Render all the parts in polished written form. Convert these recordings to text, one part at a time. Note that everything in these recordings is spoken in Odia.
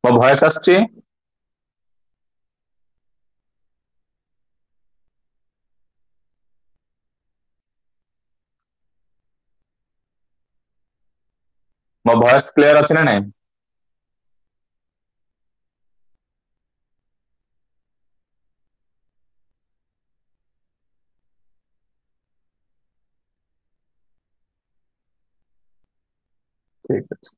ମୋ ଭଏସ ଆସୁଛି? ମୋ ଭଏସ କ୍ଲିୟର ଅଛି ନା ନାଇଁ? ଠିକ ଅଛି।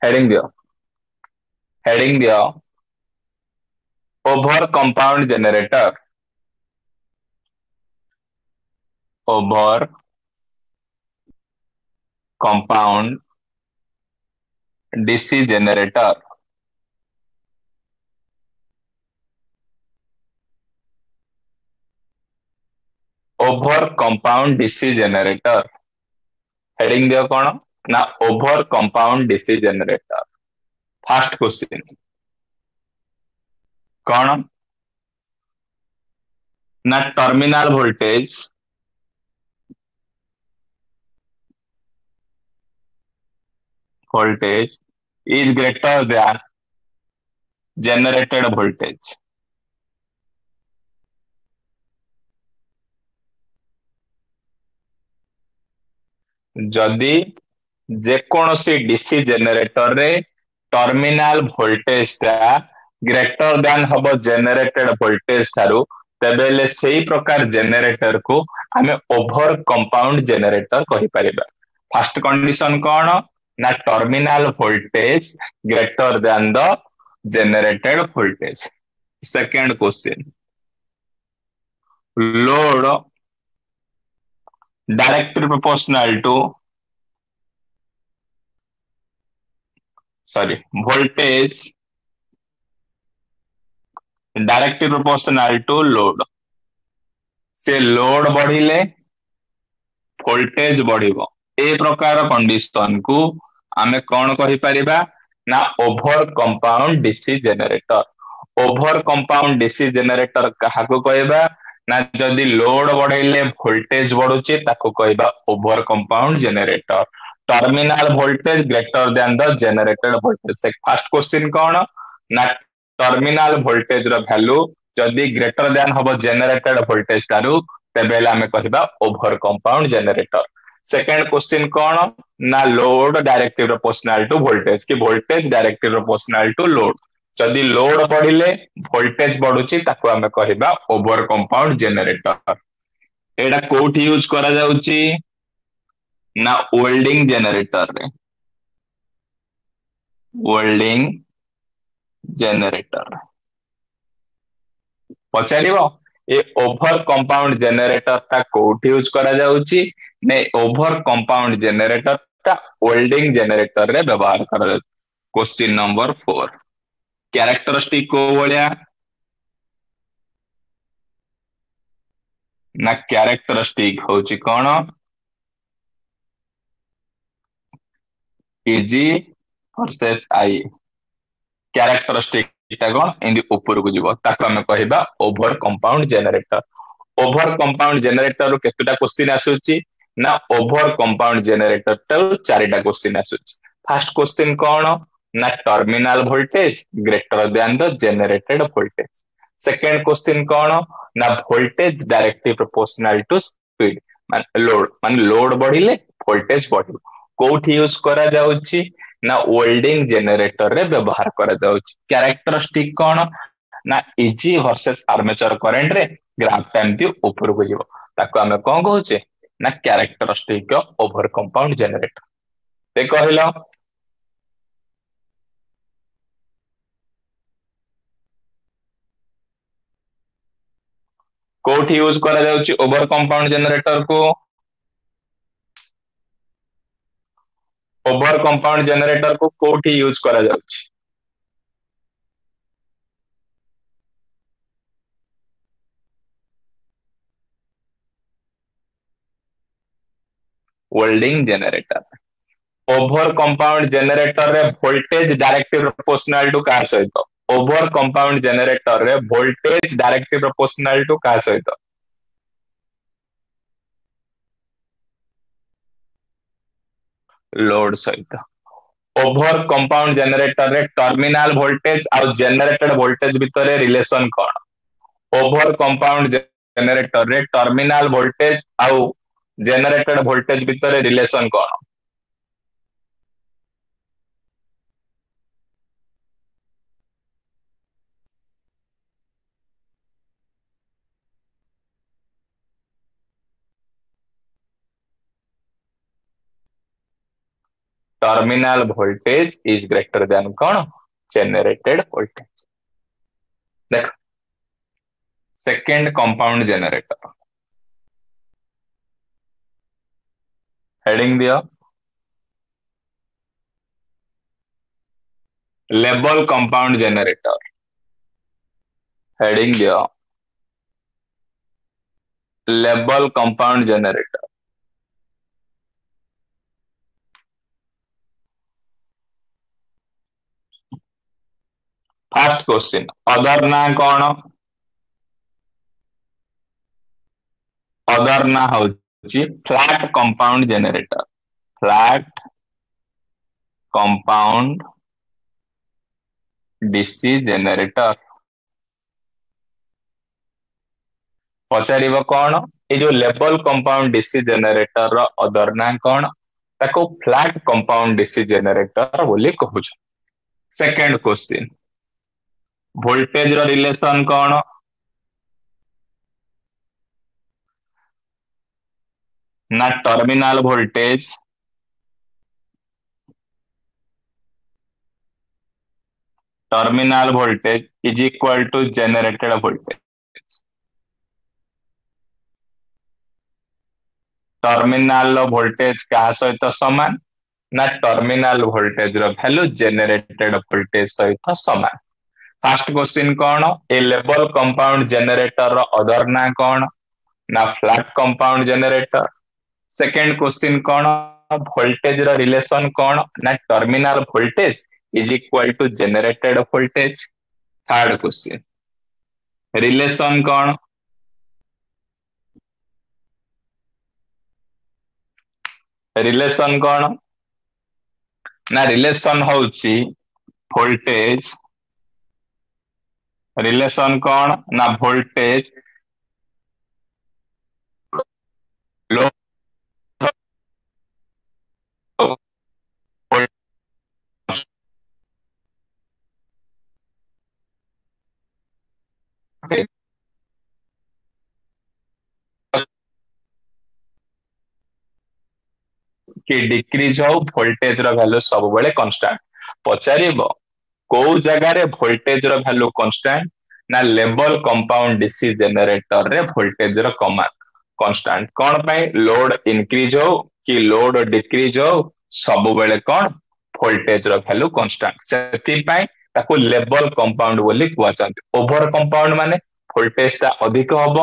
ହେଡିଙ୍ଗ ଦିଅ, ହେଡିଙ୍ଗ ଦିଅ, over compound generator, over compound DC generator, over compound DC generator. Heading ଦିଅ କଣ ନା over compound DC generator. First question କଣ ନା terminal voltage voltage is greater than generated voltage. ଯଦି ଯେକୌଣସି ଡିସି ଜେନେରେଟରରେ ଟର୍ମିନାଲ ଭୋଲ୍ଟେଜ ଟା ଗ୍ରେଟର ଦ୍ୟାନ ହବ ଜେନେରେଟେଡ ଭୋଲ୍ଟେଜ ଠାରୁ, ତେବେ ହେଲେ ସେଇ ପ୍ରକାର ଜେନେରେଟର କୁ ଆମେ ଓଭର କମ୍ପାଉଣ୍ଡ ଜେନେରେଟର କହିପାରିବା। ଫାଷ୍ଟ କଣ୍ଡିସନ କଣ ନା terminal voltage greater than the generated voltage. Second question, load directly proportional to, sorry, voltage directly proportional to load. ସେ ଲୋଡ ବଢିଲେ ଭୋଲ୍ଟେଜ ବଢିବ। ଏ ପ୍ରକାର କଣ୍ଡିସନ କୁ ଆମେ କଣ କହିପାରିବା ନା over compound DC generator. Over compound DC generator କାହାକୁ କହିବା ନା ଯଦି ଲୋଡ ବଢେଇଲେ ଭୋଲ୍ଟେଜ ବଢୁଛି ତାକୁ କହିବା over compound generator. Terminal voltage greater than the generated voltage. First question କଣ ନା ଟର୍ମିନାଲ ଭୋଲ୍ଟେଜ ର ଭ୍ୟାଲୁ ଯଦି ଗ୍ରେଟର ଦ୍ୟାନ ହବ ଜେନେରେଟେଡ ଭୋଲ୍ଟେଜ ଠାରୁ, ତେବେ ହେଲେ ଆମେ କହିବା over compound generator. Second question କଣ ନା load directly proportional to voltage କି ଭୋଲ୍ଟେଜ ଡାଇରେକ୍ଟଲି ପ୍ରପୋର୍ସନାଲ ଟୁ ଲୋଡ। ଯଦି ଲୋଡ ବଢିଲେ ଭୋଲ୍ଟେଜ ବଢୁଛି ତାକୁ ଆମେ କହିବା ଓଭର କମ୍ପାଉଣ୍ଡ ଜେନେରେଟର। ଏଇଟା କୋଉଠି ୟୁଜ କରାଯାଉଛି ନା ୱେଲ୍ଡିଂ ଜେନେରେଟରରେ, ୱେଲ୍ଡିଂ ଜେନେରେଟର। ପଚାରିବ ଏ ଓଭର କମ୍ପାଉଣ୍ଡ ଜେନେରେଟର ଟା କୋଉଠି ୟୁଜ କରାଯାଉଛି ନା ଓଭର କମ୍ପାଉଣ୍ଡ ଜେନେରେଟର ଟା ୱେଲ୍ଡିଂ ଜେନେରେଟର ରେ ବ୍ୟବହାର କରାଯାଉଛି। କ୍ୱେଶ୍ଚିନ୍ ନମ୍ବର 4, କ୍ୟାରେକ୍ଟରିଷ୍ଟିକ କୋଉ ଭଳିଆ ନା କ୍ୟାରେକ୍ଟରିଷ୍ଟିକ ହଉଛି କଣ ଇଜି ଭର୍ସେସ I. Characteristic ଟା କଣ ଏମିତି ଉପରକୁ ଯିବ, ତାକୁ ଆମେ କହିବା over compound generator. Over compound generator ରୁ କେତେଟା କ୍ୱେଶ୍ଚିନ୍ ଆସୁଛି ନା ଓଭର କମ୍ପାଉଣ୍ଡ ଜେନେରେଟର ଟାରୁ 4ଟା କ୍ୱେଶ୍ଚିନ୍ ଆସୁଛି। ଫାଷ୍ଟ କ୍ୱେଶ୍ଚିନ୍ କଣ ନା terminal voltage greater than the generated voltage. Second question କଣ ନା voltage directly proportional to speed ମାନେ ଲୋଡ, ମାନେ ଲୋଡ ବଢିଲେ ଭୋଲ୍ଟେଜ ବଢିବ। କୋଉଠି ୟୁଜ କରାଯାଉଛି ନା ୱେଲ୍ଡିଂ ଜେନେରେଟର ରେ ବ୍ୟବହାର କରାଯାଉଛି। କ୍ୟାରେକ୍ଟରିଷ୍ଟିକ କଣ ନା ଇଜି ଭର୍ସେସ ଆର୍ମେଚର କରେଣ୍ଟ ରେ ଗ୍ରାଫ ଟା ଏମିତି ଉପରକୁ ଯିବ, ତାକୁ ଆମେ କଣ କହୁଛେ ନା characteristic of over compound generator. ସେ କହିଲ କୋଉଠି ୟୁଜ କରାଯାଉଛି ଓଭର କମ୍ପାଉଣ୍ଡ ଜେନେରେଟର କୁ? ଓଭର କମ୍ପାଉଣ୍ଡ ଜେନେରେଟର କୁ କୋଉଠି ୟୁଜ କରାଯାଉଛି? Welding generator. Over compound generator ରେ ଭୋଲ୍ଟେଜ ଡାଇରେକ୍ଟଲି ପ୍ରପୋର୍ସନାଲ ଟୁ କାହା ସହିତ? ଓଭର କମ୍ପାଉଣ୍ଡ ଜେନେରେଟର ରେ ଭୋଲ୍ଟେଜ ଡାଇରେକ୍ଟଲି ପ୍ରପୋର୍ସନାଲ ଟୁ କାହା ସହିତ? ଲୋଡ ସହିତ। ଓଭର କମ୍ପାଉଣ୍ଡ ଜେନେରେଟର ରେ ଟର୍ମିନାଲ ଭୋଲ୍ଟେଜ ଆଉ ଜେନେରେଟେଡ ଭୋଲ୍ଟେଜ ଭିତରେ ରିଲେସନ କଣ? ଓଭର କମ୍ପାଉଣ୍ଡ ଜେନେରେଟର ରେ ଟର୍ମିନାଲ ଭୋଲ୍ଟେଜ ଆଉ ଜେନେରେଟେଡ ଭୋଲ୍ଟେଜ ଭିତରେ ରିଲେସନ କଣ? Terminal voltage is greater than କଣ? Generated voltage. ଦେଖ, ସେକେଣ୍ଡ କମ୍ପାଉଣ୍ଡ ଜେନେରେଟର, ହେଡିଂ ଦିଅ, ଲେବଲ କମ୍ପାଉଣ୍ଡ ଜେନେରେଟର। ହେଡିଂ ଦିଅ, level compound generator. First question, other ନା କଣ? ଅଦର ନା ହଉଛି flat compound generator. Flat compound DC generator. ପଚାରିବ କଣ? ଏଇ ଯୋଉ ଲେବଲ କମ୍ପାଉଣ୍ଡ ଡିସି ଜେନେରେଟର ର ଅଦର ନା କଣ? ତାକୁ ଫ୍ଲାଟ କମ୍ପାଉଣ୍ଡ ଡିସି ଜେନେରେଟର ବୋଲି କହୁଛୁ। ସେକେଣ୍ଡ କ୍ୱେଶ୍ଚିନ୍, ଭୋଲ୍ଟେଜ ର ରିଲେସନ କଣ? ନା terminal voltage, terminal voltage is equal to generated voltage. Terminal voltage କାହା ସହିତ ସମାନ? ନା ଟର୍ମିନାଲ ଭୋଲ୍ଟେଜ ର ଭ୍ୟାଲୁ ଜେନେରେଟେଡ ଭୋଲ୍ଟେଜ ସହିତ ସମାନ। ଫାର୍ଷ୍ଟ କ୍ୱେଶ୍ଚିନ୍ କଣ? ଏ ଲେବଲ କମ୍ପାଉଣ୍ଡ ଜେନେରେଟର ର ଅଦର ନା କଣ? ନା flat compound generator. Second question କଣ? ଭୋଲ୍ଟେଜ ର ରିଲେସନ କଣ? ନା terminal voltage is equal to generated voltage. Third question, relation କଣ? ରିଲେସନ କଣ? ନା ରିଲେସନ ହଉଛି ଭୋଲ୍ଟେଜ। ରିଲେସନ କଣ? ନା ଭୋଲ୍ଟେଜ ଲୋ କି ଡିକ୍ରିଜ ହଉ, ଭୋଲ୍ଟେଜ ର ଭ୍ୟାଲୁ ସବୁବେଳେ କନଷ୍ଟାଣ୍ଟ। ପଚାରିବ କୋଉ ଜାଗାରେ ଭୋଲ୍ଟେଜ ର ଭ୍ୟାଲୁ କନଷ୍ଟାଣ୍ଟ? ନା ଲେବଲ କମ୍ପାଉଣ୍ଡ ଡିସି ଜେନେରେଟର ରେ ଭୋଲ୍ଟେଜ ର କମା କନଷ୍ଟାଣ୍ଟ। କଣ ପାଇଁ? ଲୋଡ ଇନକ୍ରିଜ ହଉ କି ଲୋଡ ଡିକ୍ରିଜ ହଉ, ସବୁବେଳେ କଣ? ଭୋଲ୍ଟେଜ ର ଭ୍ୟାଲୁ କନଷ୍ଟାଣ୍ଟ। ସେଥିପାଇଁ ତାକୁ ଲେବଲ କମ୍ପାଉଣ୍ଡ ବୋଲି କୁହାଯାନ୍ତି। ଓଭର କମ୍ପାଉଣ୍ଡ ମାନେ ଭୋଲ୍ଟେଜ ଟା ଅଧିକ ହବ,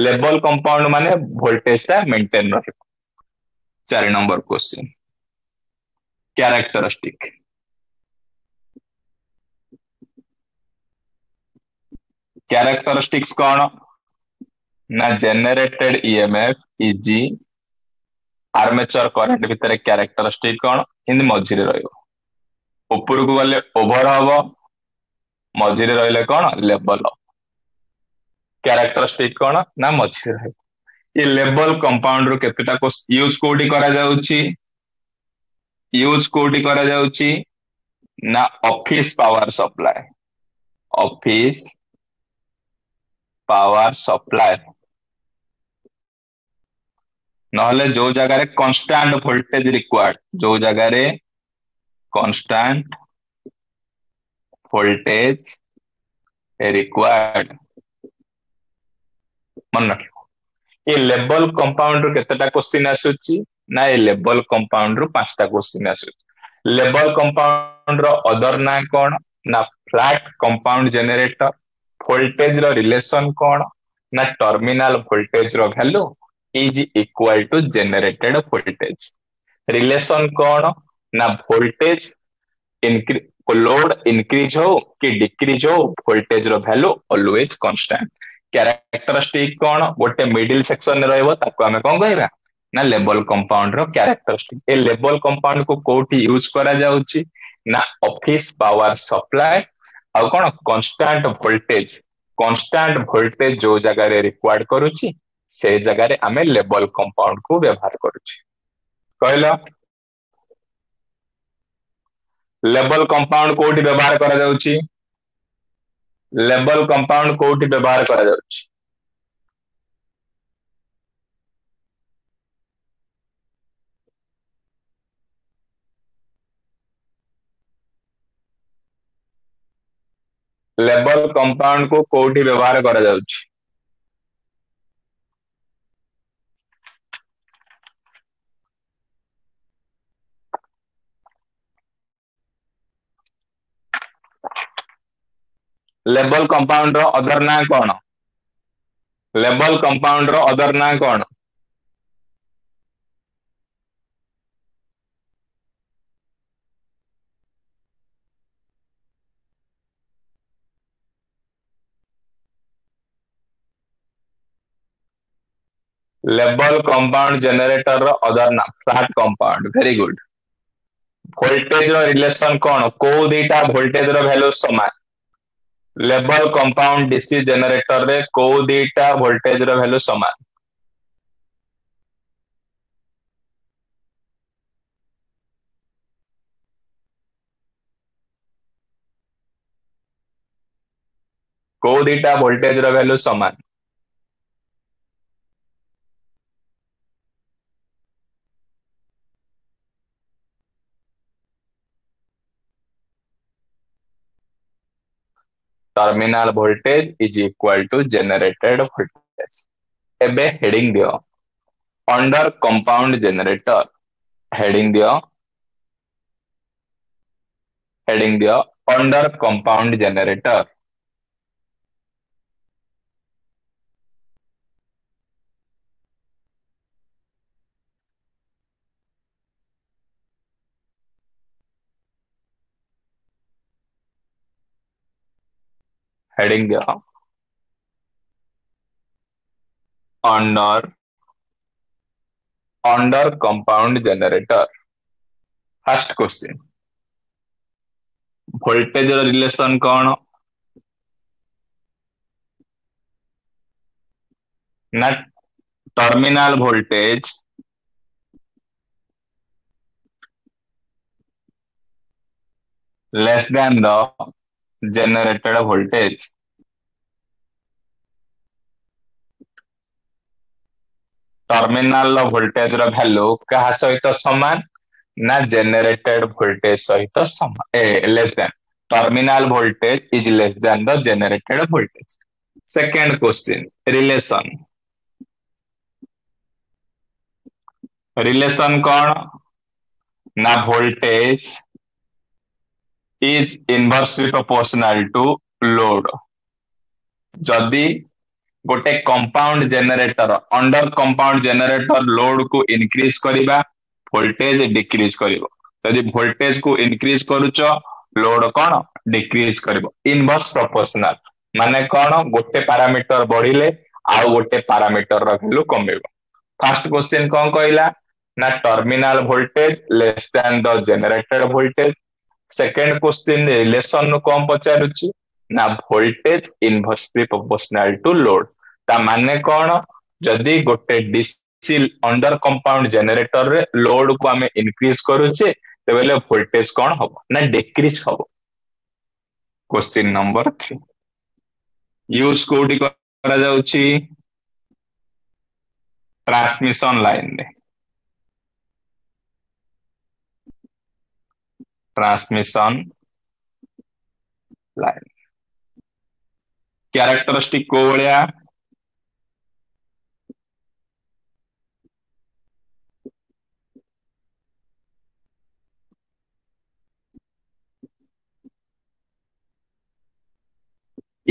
ଲେବଲ କମ୍ପାଉଣ୍ଡ ମାନେ ଭୋଲ୍ଟେଜ ଟା ମେଣ୍ଟେନ ରହିବ। 4 ନମ୍ବର କ୍ୱେଶ୍ଚିନ୍, କ୍ୟାରେକ୍ଟରିଷ୍ଟିକ। କ୍ୟାରେକ୍ଟରିଷ୍ଟିକ୍ସ କଣ? ନା generated EMF is armature current ଭିତରେ କ୍ୟାରେକ୍ଟରିଷ୍ଟିକ କଣ? ଏମିତି ମଝିରେ ରହିବ। ଉପରକୁ ଗଲେ ଓଭର ହବ, ମଝିରେ ରହିଲେ କଣ? ଲେବଲ। କ୍ୟାରେକ୍ଟରିଷ୍ଟିକ କଣ? ନା ମଝିରେ ରହିବ। ଏ ଲେବଲ କମ୍ପାଉଣ୍ଡ ରୁ କେତେଟା ୟୁଜ କୋଉଠି କରାଯାଉଛି? ୟୁଜ କୋଉଠି କରାଯାଉଛି? ନା office power supply. Office power supply ନହେଲେ ଯୋଉ ଜାଗାରେ କନଷ୍ଟାଣ୍ଟ ଭୋଲ୍ଟେଜ ରିକ୍ୱାର୍ଡ, ଯୋଉ ଜାଗାରେ କନଷ୍ଟାଣ୍ଟ ଭୋଲ୍ଟେଜ ରିକ୍ୱାର୍ଡ। ମନେ ରଖିବ, ଏ ଲେବଲ କମ୍ପାଉଣ୍ଡ ରୁ କେତେଟା କ୍ୱେଶ୍ଚିନ୍ ଆସୁଛି? ନା ଏ ଲେବଲ କମ୍ପାଉଣ୍ଡ ରୁ 5ଟା କ୍ୱେଶ୍ଚିନ୍ ଆସୁଛି। ଲେବଲ କମ୍ପାଉଣ୍ଡ ର ଅଦର ନା କଣ? ନା ଫ୍ଲାଟ କମ୍ପାଉଣ୍ଡ ଜେନେରେଟର। ଭୋଲ୍ଟେଜ ର ରିଲେସନ କଣ? ନା ଟର୍ମିନାଲ ଭୋଲ୍ଟେଜ ର value is equal to generated voltage. Relation କଣ? ନା ଭୋଲ୍ଟେଜ ଲୋଡ ଇନକ୍ରିଜ ହଉ କି ଡିକ୍ରିଜ ହଉ, ଭୋଲ୍ଟେଜ ର ଭ୍ୟାଲୁ ଅଲୱେଜ କନଷ୍ଟାଣ୍ଟ। କ୍ୟାରେକ୍ଟରିଷ୍ଟିକ କଣ? ଗୋଟେ ମିଡିଲ ସେକ୍ସନ ରହିବ, ତାକୁ ଆମେ କଣ କହିବା ନା ଲେବଲ କମ୍ପାଉଣ୍ଡ ର କ୍ୟାରେକ୍ଟରିଷ୍ଟିକ। ଏ ଲେବଲ କମ୍ପାଉଣ୍ଡ କୁ କୋଉଠି ୟୁଜ କରାଯାଉଛି ନା ଅଫିସ ପାୱାର ସପ୍ଲାଏ, ଆଉ କଣ କନଷ୍ଟାଣ୍ଟ ଭୋଲ୍ଟେଜ। କନଷ୍ଟାଣ୍ଟ ଭୋଲ୍ଟେଜ ଯୋଉ ଜାଗାରେ ରିକ୍ୱାର୍ଡ କରୁଛି, ସେ ଜାଗାରେ ଆମେ ଲେବଲ କମ୍ପାଉଣ୍ଡ କୁ ବ୍ୟବହାର କରୁଛେ। କହିଲ, ଲେବଲ କମ୍ପାଉଣ୍ଡ କୋଉଠି ବ୍ୟବହାର କରାଯାଉଛି? ଲେବଲ କମ୍ପାଉଣ୍ଡ କୋଉଠି ବ୍ୟବହାର କରାଯାଉଛି? ଲେବଲ କମ୍ପାଉଣ୍ଡ କୁ କୋଉଠି ବ୍ୟବହାର କରାଯାଉଛି? ଲେବଲ କମ୍ପାଉଣ୍ଡ ର ଅଦର ନାଁ କଣ? ଲେବଲ କମ୍ପାଉଣ୍ଡ ର ଅଦର ନାଁ କଣ? ଲେବଲ କମ୍ପାଉଣ୍ଡ ଜେନେରେଟର ର ଅଦର ନାଁ flat compound. Very good. Voltage ର ରିଲେସନ କଣ? କୋଉ ଦିଟା ଭୋଲ୍ଟେଜ ର ଭ୍ୟାଲୁ ସମାନ? ଲେବଲ କମ୍ପାଉଣ୍ଡ ଡିସି ଜେନେରେଟର ରେ କୋଉ ଦିଟା ଭୋଲ୍ଟେଜ ର ଭ୍ୟାଲୁ ସମାନ? କୋଉ ଦିଟା ଭୋଲ୍ଟେଜ ର ଭ୍ୟାଲୁ ସମାନ? Terminal voltage is equal to generated voltage. ଏବେ ହେଡିଂ ଦିଅ, ଅଣ୍ଡର କମ୍ପାଉଣ୍ଡ ଜେନେରେଟର। ହେଡିଂ ଦିଅ, ହେଡିଂ ଦିଅ ଅଣ୍ଡର କମ୍ପାଉଣ୍ଡ ଜେନେରେଟର। ହେଡିଂ ଦିଅ under compound generator. First question, voltage ର ରିଲେସନ କଣ ନା terminal voltage less than the generated voltage. Terminal ର ଭୋଲ୍ଟେଜ ର ଭ୍ୟାଲୁ କାହା ସହିତ ସମାନ ନା ଜେନେରେଟେଡ ଭୋଲ୍ଟେଜ ସହିତ ସମାନ, ଏ less than. Terminal voltage is less than the generated voltage. Second question, relation. Relation କଣ ନା voltage is inversely proportional to load. ଯଦି ଗୋଟେ compound generator, under compound generator load କୁ ଇନକ୍ରିଜ କରିବା, ଭୋଲ୍ଟେଜ ଡିକ୍ରିଜ କରିବ। ଯଦି ଭୋଲ୍ଟେଜ କୁ ଇନକ୍ରିଜ କରୁଛ, ଲୋଡ କଣ ଡିକ୍ରିଜ କରିବ। ଇନଭର୍ସ ପ୍ରପୋର୍ସନାଲ ମାନେ କଣ? ଗୋଟେ ପାରାମିଟର ବଢିଲେ ଆଉ ଗୋଟେ ପାରାମିଟର ର ଭ୍ୟାଲୁ କମିବ। ଫାର୍ଷ୍ଟ କ୍ୱେଶ୍ଚିନ୍ କଣ କହିଲା ନା terminal voltage less than the generated voltage. Second question relation ରୁ କଣ ପଚାରୁଛି ନା voltage inversely proportional to load. ତା ମାନେ କଣ? ଯଦି ଗୋଟେ ଡିସି ଅଣ୍ଡର କମ୍ପାଉଣ୍ଡ ଜେନେରେଟର ରେ ଲୋଡ କୁ ଆମେ ଇନକ୍ରିଜ କରୁଛେ, ତେବେ ଭୋଲ୍ଟେଜ କଣ ହବ ନା ଡିକ୍ରିଜ ହବ। କ୍ୱେଶ୍ଚିନ୍ ନମ୍ବର 3, ୟୁଜ କୋଉଠି କରାଯାଉଛି? ଟ୍ରାନ୍ସମିଶନ ଲାଇନ ରେ। ଟ୍ରାନ୍ସମିଶନ ଲାଇନ କ୍ୟାରେକ୍ଟରିଷ୍ଟିକ କୋଉ ଭଳିଆ?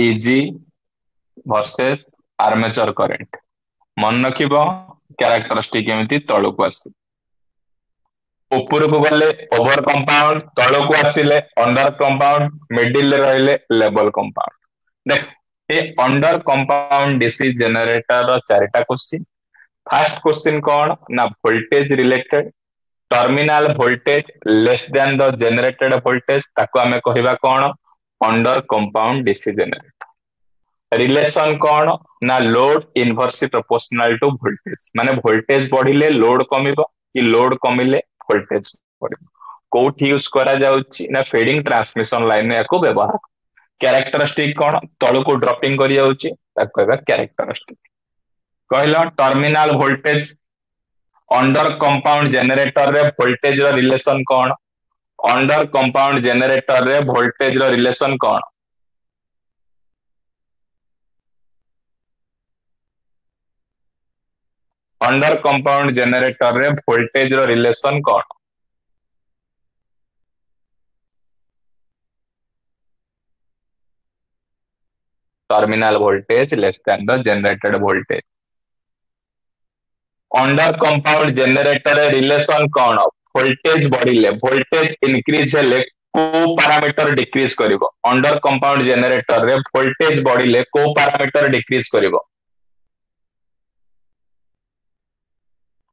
E G versus armature current. ମନେ ରଖିବ, କ୍ୟାରେକ୍ଟରିଷ୍ଟିକ ଏମିତି ତଳକୁ ଆସିବ। ଉପରକୁ ଗଲେ ଓଭର କମ୍ପାଉଣ୍ଡ, ତଳକୁ ଆସିଲେ ଅଣ୍ଡର କମ୍ପାଉଣ୍ଡ, ମିଡିଲରେ ରହିଲେ ଲେବଲ କମ୍ପାଉଣ୍ଡ। ଦେଖ, ଏ ଅଣ୍ଡର କମ୍ପାଉଣ୍ଡ ଡିସି ଜେନେରେଟର ର ଚାରିଟା କ୍ୱେଶ୍ଚିନ୍। ଫାର୍ଷ୍ଟ କ୍ୱେଶ୍ଚିନ୍ କଣ ନା voltage related। Terminal voltage less than the generated voltage, ତାକୁ ଆମେ କହିବା କଣ? Under compound DC generator. Relation କଣ ନା load inversely proportional to voltage, ମାନେ ଭୋଲ୍ଟେଜ ବଢିଲେ ଲୋଡ କମିବ କି ଲୋଡ କମିଲେ ଭୋଲ୍ଟେଜ ବଢିବ। କୋଉଠି ୟୁଜ କରାଯାଉଛି ନା ଫିଡିଂ ଟ୍ରାନ୍ସମିଶନ ଲାଇନ ୟାକୁ ବ୍ୟବହାର। କ୍ୟାରେକ୍ଟରିଷ୍ଟିକ କଣ? ତଳକୁ ଡ୍ରପିଂ କରି ଯାଉଛି, ତାକୁ କହିବା କ୍ୟାରେକ୍ଟରିଷ୍ଟିକ। କହିଲ, ଟର୍ମିନାଲ ଭୋଲ୍ଟେଜ ଅଣ୍ଡର କମ୍ପାଉଣ୍ଡ ଜେନେରେଟରରେ ଭୋଲ୍ଟେଜ ର ରିଲେସନ କଣ? ଅଣ୍ଡର କମ୍ପାଉଣ୍ଡ ଜେନେରେଟରରେ ଭୋଲ୍ଟେଜ ର ରିଲେସନ କଣ? ଅଣ୍ଡର କମ୍ପାଉଣ୍ଡ ଜେନେରେଟରରେ ଭୋଲ୍ଟେଜ ର ରିଲେସନ କଣ? Terminal voltage less than the generated voltage। Under compound generator relation କଣ? ଭୋଲ୍ଟେଜ ବଢିଲେ, ଭୋଲ୍ଟେଜ ଇନକ୍ରିଜ ହେଲେ କୋଉ ପାରାମିଟର ଡିକ୍ରିଜ କରିବ? ଅଣ୍ଡର କମ୍ପାଉଣ୍ଡ ଜେନେରେଟର ରେ ଭୋଲ୍ଟେଜ ବଢିଲେ କୋଉ ପାରାମିଟର ଡିକ୍ରିଜ କରିବ?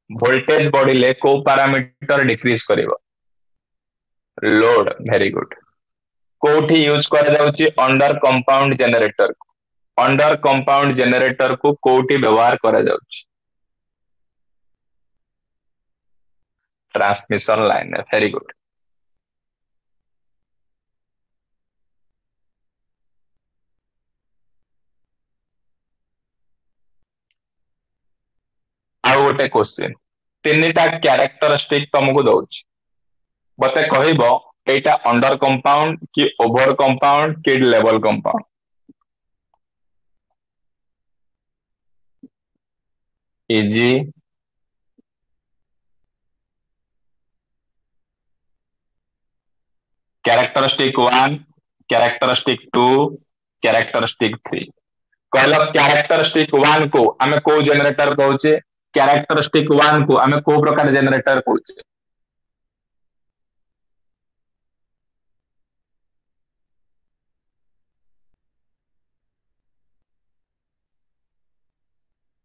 ଭୋଲ୍ଟେଜ ବଢିଲେ କୋଉ ପାରାମିଟର ଡିକ୍ରିଜ କରିବ? Load, very good. କୋଉଠି ୟୁଜ କରାଯାଉଛି under compound generator? Under compound generator କୁ କୋଉଠି ବ୍ୟବହାର କରାଯାଉଛି? Transmission line, very good. ଆଉ ଗୋଟେ କ୍ୱେଶ୍ଚିନ୍, ତିନିଟା କ୍ୟାରେକ୍ଟରିଷ୍ଟିକ ତମକୁ ଦଉଛି, ମତେ କହିବ ଏଇଟା ଅଣ୍ଡର କମ୍ପାଉଣ୍ଡ କି ଓଭର କମ୍ପାଉଣ୍ଡ କି ଲେବଲ compound? Easy. Characteristic 1, characteristic 2, characteristic 3। କହିଲ, କ୍ୟାରେକ୍ଟରିଷ୍ଟିକ 1 କୁ ଆମେ କୋଉ ଜେନେରେଟର କହୁଛେ? କ୍ୟାରେକ୍ଟରିଷ୍ଟିକ 1 କୁ ଆମେ କୋଉ ପ୍ରକାର ଜେନେରେଟର କହୁଛେ?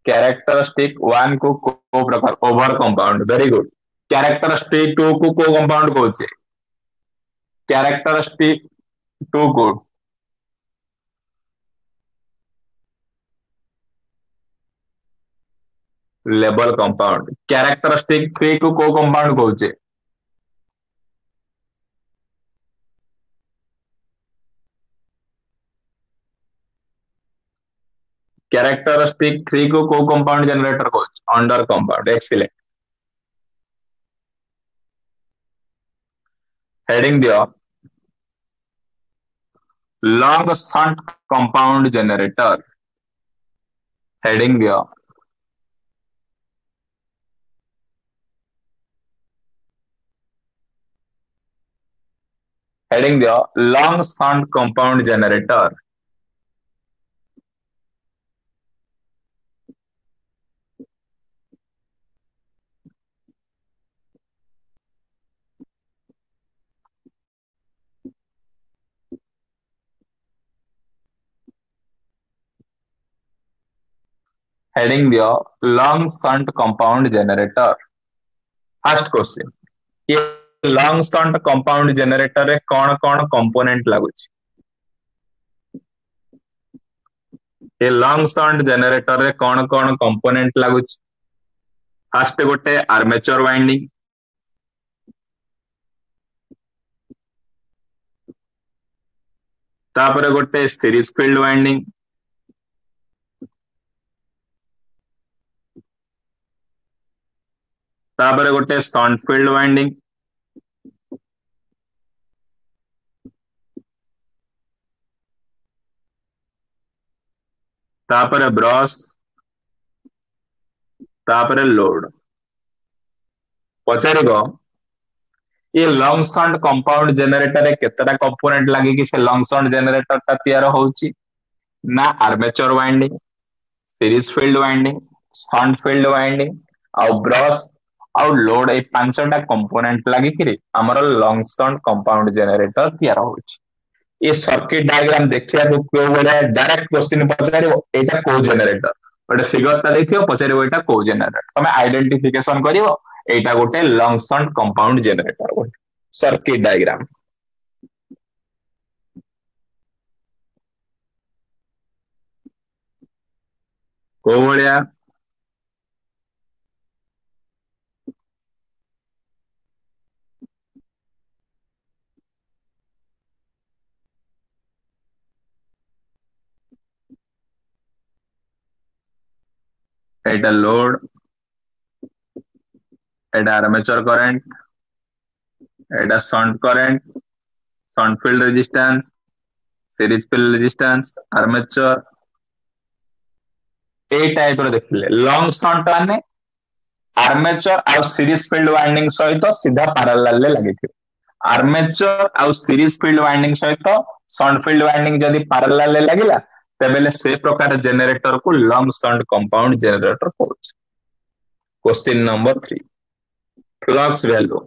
କ୍ୟାରେକ୍ଟରିଷ୍ଟିକ 1 କୁ କୋଉ ପ୍ରକାର? Over compound, very good. Characteristic 2 କୁ କୋଉ କମ୍ପାଉଣ୍ଡ କହୁଛେ? କ୍ୟାରେକ୍ଟରିଷ୍ଟିକ 2 କୁ ଲେବଲ କମ୍ପାଉଣ୍ଡ। କ୍ୟାରେକ୍ଟରିଷ୍ଟିକ 3 କୁ କୋଉ କମ୍ପାଉଣ୍ଡ କହୁଛେ? କ୍ୟାରେକ୍ଟରିଷ୍ଟିକ 3 କୁ କୋଉ କମ୍ପାଉଣ୍ଡ ଜେନେରେଟର କହୁଛେ? Under compound, excellent. Heading ଦିଅ, long shunt compound generator। Heading ଦିଅ, ହେଡିଂ ଦିଅ, long shunt compound generator। Heading ଦିଅ, long shunt compound generator। First question, a long ସଣ୍ଟ compound generator ରେ କଣ କଣ କମ୍ପୋନେଣ୍ଟ ଲାଗୁଛି? ଏ ଲଙ୍ଗ ସଣ୍ଟ ଜେନେରେଟର ରେ କଣ କଣ କମ୍ପୋନେଣ୍ଟ ଲାଗୁଛି? ଫାର୍ଷ୍ଟ ଗୋଟେ ଆର୍ମେଚର ୱାଇଣ୍ଡିଂ, ତାପରେ ଗୋଟେ ସିରିଜ ଫିଲ୍ଡ ୱାଇଣ୍ଡିଂ, ତାପରେ ଗୋଟେ ସଣ୍ଟ ଫିଲ୍ଡ ୱାଇଣ୍ଡିଂ, ତାପରେ ବ୍ରଶ, ତାପରେ ଲୋଡ। ପଚାରିବ, ଏ ଲଙ୍ଗ ସଣ୍ଟ କମ୍ପାଉଣ୍ଡ ଜେନେରେଟର ରେ କେତେଟା କମ୍ପୋନେଣ୍ଟ ଲାଗିକି ସେ ଲଙ୍ଗ ସଣ୍ଟ ଜେନେରେଟର ଟା ତିଆରି ହଉଛି ନା armature winding, series field winding, shunt field winding ଆଉ ବ୍ରଶ ଆଉ ଲୋଡ, ଏଇ ପାଞ୍ଚଟା କମ୍ପୋନେଣ୍ଟ ଲାଗିକିରି ଆମର ଲଙ୍ଗ ସଣ୍ଟ କମ୍ପାଉଣ୍ଡ ଜେନେରେଟର ତିଆର ହଉଛି। ଏ ସର୍କିଟ ଡାଇଗ୍ରାମ ଦେଖିବାକୁ କୋଉ ଭଳିଆ? ଡାଇରେକ୍ଟ କ୍ୱେଶ୍ଚିନ୍ ପଚାରିବ, ଏଇଟା କୋଉ ଜେନେରେଟର? ଗୋଟେ ଫିଗର ଟା ଦେଇଥିବ, ପଚାରିବ ଏଇଟା କୋଉ ଜେନେରେଟର, ତମେ ଆଇଡେଣ୍ଟିଫିକେସନ କରିବ ଏଇଟା ଗୋଟେ ଲଙ୍ଗ ସଣ୍ଟ କମ୍ପାଉଣ୍ଡ ଜେନେରେଟର ଗୋଟେ ସର୍କିଟ ଡାଇଗ୍ରାମ। କୋଉ ଭଳିଆ? ଏଇଟା ଲୋଡ, ଏଇଟା ଆର୍ମେଚର କରେଣ୍ଟ, ଏଇଟା shunt current, shunt field resistance, series field resistance, armature. ଏଇ ଟାଇପ ର ଦେଖିଲେ ଲଙ୍ଗ ସଣ୍ଟ ମାନେ ଆର୍ମେଚର ଆଉ ସିରିଜ ଫିଲ୍ଡ ୱାଇଣ୍ଡିଂ ସହିତ ସିଧା ପାରାଲାଲ ରେ ଲାଗିଥିବ। ଆର୍ମେଚର ଆଉ ସିରିଜ ଫିଲ୍ଡ ୱାଇଣ୍ଡିଂ ସହିତ ସଣ୍ଟ ଫିଲ୍ଡ ୱାଇଣ୍ଡିଂ ଯଦି ପାରାଲାଲ ରେ ଲାଗିଲା, ତେବେ ସେ ପ୍ରକାର ଜେନେରେଟର କୁ ଲଙ୍ଗ ସଣ୍ଟ କମ୍ପାଉଣ୍ଡ ଜେନେରେଟର କହୁଛି। Question number 3, flux value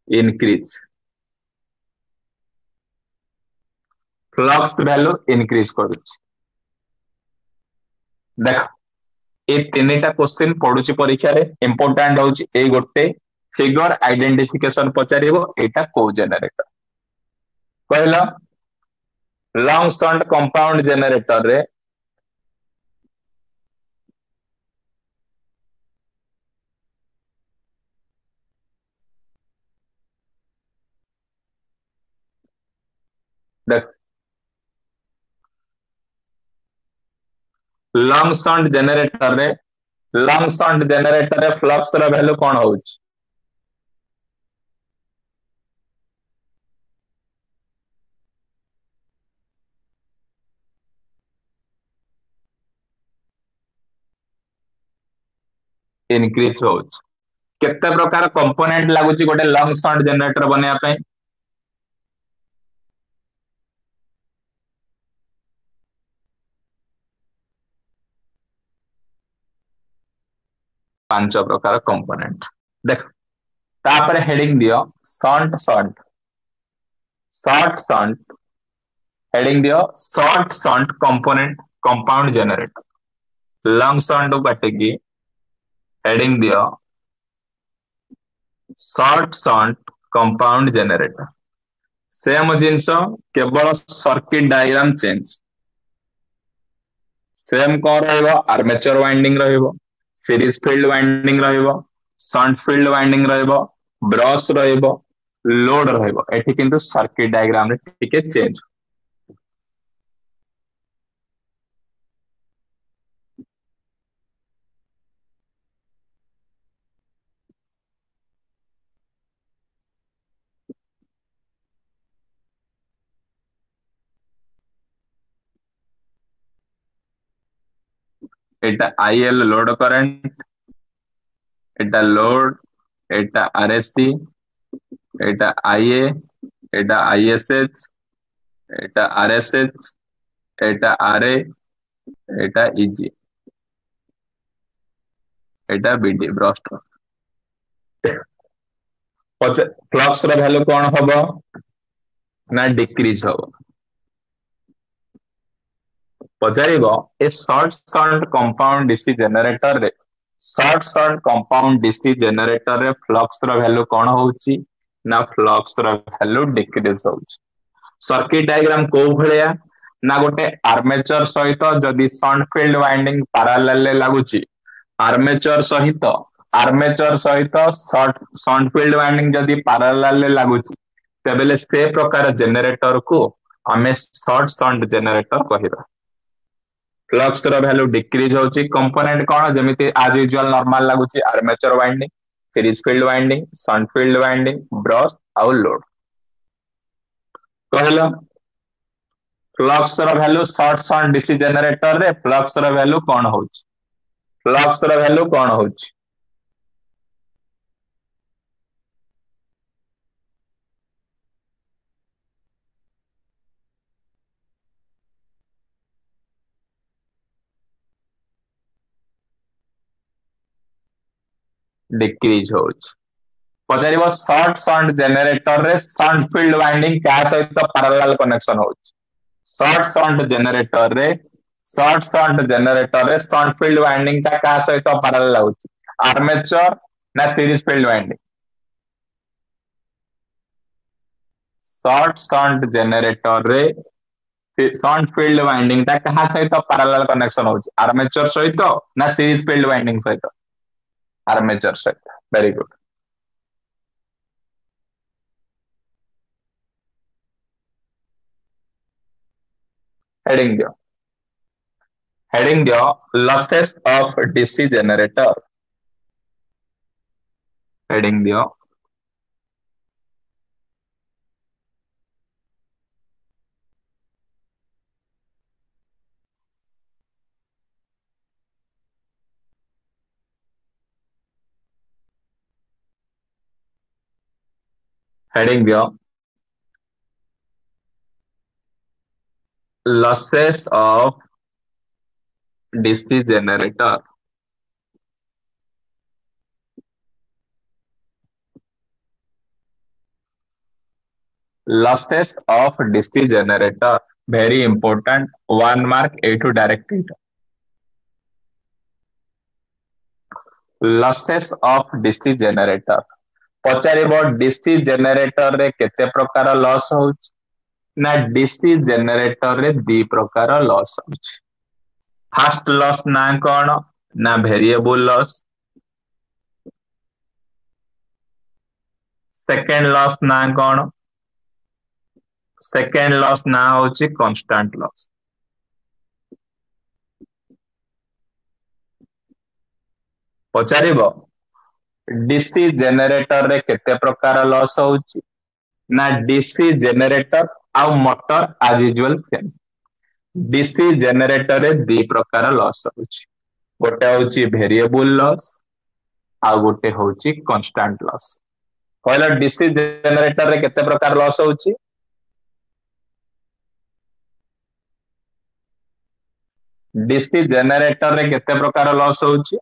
increase. Flux value increase କରୁଛି। ଦେଖ, ଏ ତିନିଟା କ୍ୱେଶ୍ଚିନ୍ ପଡୁଛି ପରୀକ୍ଷାରେ, ଇମ୍ପୋର୍ଟାଣ୍ଟ ହଉଛି ଏଇ ଗୋଟେ ଫିଗର ଆଇଡେଣ୍ଟିଫିକେସନ ପଚାରିବ, ଏଇଟା କୋଉ ଜେନେରେଟର କହିଲ? ଲଙ୍ଗ ସଣ୍ଟ କମ୍ପାଉଣ୍ଡ ଜେନେରେଟର ରେ ଦେଖ, ଲଙ୍ଗ ସଣ୍ଟ ଜେନେରେଟର ରେ, ଲଙ୍ଗ ସଣ୍ଟ ଜେନେରେଟର ରେ ଫ୍ଲକ୍ସ ର ଭ୍ୟାଲୁ କଣ ହଉଛି? ଇନକ୍ରିଜ ହଉଛି। କେତେ ପ୍ରକାର କମ୍ପୋନେଣ୍ଟ ଲାଗୁଛି ଗୋଟେ ଲଙ୍ଗ ସଣ୍ଟ ଜେନେରେଟର ବନେଇବା ପାଇଁ? ପାଞ୍ଚ ପ୍ରକାର କମ୍ପୋନେଣ୍ଟ। ଦେଖ, ତାପରେ ହେଡିଂ ଦିଅ shunt shunt, short shunt, heading ଦିଅ short shunt component compound generator. Long shunt କାଟିକି ହେଡିଂ ଦିଅ ସର୍ଟ ସଣ୍ଟ କମ୍ପାଉଣ୍ଡ ଜେନେରେଟର। ସେମ ଜିନିଷ, କେବଳ ସର୍କିଟ ଡାଇଗ୍ରାମ ଚେଞ୍ଜ। ସେମ କଣ ରହିବ? ଆର୍ମେଚର ୱାଇଣ୍ଡିଂ ରହିବ, ସିରିଜ ଫିଲ୍ଡ ୱାଇଣ୍ଡିଂ ରହିବ, ସଣ୍ଟ ଫିଲ୍ଡ ୱାଇଣ୍ଡିଂ ରହିବ, ବ୍ରଶ ରହିବ, ଲୋଡ ରହିବ। ଏଠି କିନ୍ତୁ ସର୍କିଟ ଡାଇଗ୍ରାମ ରେ ଟିକେ ଚେଞ୍ଜ। ଏଟା ଆଇଏଲ ଲୋଡ କରେଣ୍ଟ, ଏଟା ଲୋଡ, ଏଟା ଆରଏସସି, ଏଟା ଆଇଏ, ଏଟା ଆଇଏସଏଚ, ଏଟା ଆରଏସଏଚ, ଏଟା ଆରଏ, ଏଟା ଇଜି, ଏଟା ବିଡି ବ୍ରଷ୍ଟ। ଫ୍ଲକ୍ସ ର ଭ୍ୟାଲୁ କଣ ହବ? ନା ଡିକ୍ରିଜ ହବ। ପଚାରିବ ଏ ସର୍ଟ ସଣ୍ଟ କମ୍ପାଉଣ୍ଡ ଡିସି ଜେନେରେଟର ରେ, ସର୍ଟ ସଣ୍ଟ କମ୍ପାଉଣ୍ଡ ଡିସି ଜେନେରେଟର ରେ ଫ୍ଲକ୍ସ ର ଭ୍ୟାଲୁ କଣ ହଉଛି? ନା ଫ୍ଲକ୍ସ ର ଭ୍ୟାଲୁ ଡିକ୍ରିଜ ହଉଛି। ସର୍କିଟ ଡାଇଗ୍ରାମ କୋଉ ଭଳିଆ? ନା ଗୋଟେ ଆର୍ମେଚର ସହିତ ଯଦି ସଣ୍ଟ ଫିଲ୍ଡ ୱାଇଣ୍ଡିଂ ପାରାଲାଲ ରେ ଲାଗୁଛି, ଆର୍ମେଚର ସହିତ ସଣ୍ଟ ଫିଲ୍ଡ ୱାଇଣ୍ଡିଂ ଯଦି ପାରାଲାଲ ରେ ଲାଗୁଛି, ତେବେ ସେ ପ୍ରକାର ଜେନେରେଟର କୁ ଆମେ ସର୍ଟ ସଣ୍ଟ ଜେନେରେଟର କହିବା। ଫ୍ଲକ୍ସ ର ଭ୍ୟାଲୁ ଡିକ୍ରିଜ ହଉଛି। କମ୍ପୋନେଣ୍ଟ କଣ? ଯେମିତି ଆଜ ୟୁଜୁଆଲ ନର୍ମାଲ ଲାଗୁଛି, armature winding, series field winding, shunt field winding, brush ଆଉ ଲୋଡ। କହିଲ ଫ୍ଲକ୍ସ ର ଭ୍ୟାଲୁ ସର୍ଟ ସଣ୍ଟ ଡିସି ଜେନେରେଟର ରେ ଫ୍ଲକ୍ସ ର ଭ୍ୟାଲୁ କଣ ହଉଛି? ଫ୍ଲକ୍ସ ର ଭ୍ୟାଲୁ କଣ ହଉଛି? ଡିକ୍ରିଜ ହଉଛି। ପଚାରିବ, ସର୍ଟ ସଣ୍ଟ ଜେନେରେଟରରେ ସଣ୍ଟ ଫିଲ୍ଡ ୱାଇଣ୍ଡିଂ କାହା ସହିତ ପାରାଲାଲ କନେକ୍ସନ ହଉଛି? ସର୍ଟ ସଣ୍ଟ ଜେନେରେଟରରେ, ସର୍ଟ ସଣ୍ଟ ଜେନେରେଟରରେ ସଣ୍ଟ ଫିଲ୍ଡ ୱାଇଣ୍ଡିଂ ଟା କାହା ସହିତ ପାରାଲାଲ ହଉଛି, ଆର୍ମେଚର ନା series field winding? Short shunt ଜେନେରେଟରରେ ସଣ୍ଟ field winding ଟା କାହା ସହିତ ପାରାଲାଲ କନେକ୍ସନ ହଉଛି, ଆର୍ମେଚର ସହିତ ନା ସିରିଜ ଫିଲ୍ଡ ୱାଇଣ୍ଡିଂ ସହିତ? ଆର୍ମେଚର ସହିତ। Very good. Heading ଦିଅ, ହେଡିଂ ଦିଅ, ଲସେସ୍ ଅଫ ଡିସି ଜେନେରେଟର। ହେଡିଂ ଦିଅ, ହେଡିଂ ଦିଅ, losses of DC generator। Losses of DC generator, very important, 1 mark A2 direct ଏଇଟା। Losses of DC generator ପଚାରିବ, DC generator ରେ କେତେ ପ୍ରକାର ଲସ୍ ହଉଛି? ନା DC generator ରେ ଦି ପ୍ରକାର ଲସ୍ ହଉଛି। ଫାଷ୍ଟ ଲସ୍ ନା କଣ? ନା ଭେରିଏବୁଲ ଲସ୍। ସେକେଣ୍ଡ ଲସ୍ ନା କଣ? ସେକେଣ୍ଡ ଲସ୍ ନା ହଉଛି କନଷ୍ଟାଣ୍ଟ ଲସ୍। ପଚାରିବ, ଡିସି ଜେନେରେଟର ରେ କେତେ ପ୍ରକାର ଲସ୍ ହଉଛି? ନା ଡିସି ଜେନେରେଟର ଆଉ ମଟର ଆଜ ୟୁଜୁଆଲ ସେମ୍। ଡିସି ଜେନେରେଟର ରେ ଦି ପ୍ରକାର ଲସ୍ ହଉଛି, ଗୋଟେ ହଉଛି ଭେରିଏବୁଲ ଲସ୍ ଆଉ ଗୋଟେ ହଉଛି କନଷ୍ଟାଣ୍ଟ ଲସ୍। କହିଲ, ଡିସି ଜେନେରେଟର ରେ କେତେ ପ୍ରକାର ଲସ୍ ହଉଛି? ଡିସି ଜେନେରେଟର ରେ କେତେ ପ୍ରକାର ଲସ୍ ହଉଛି?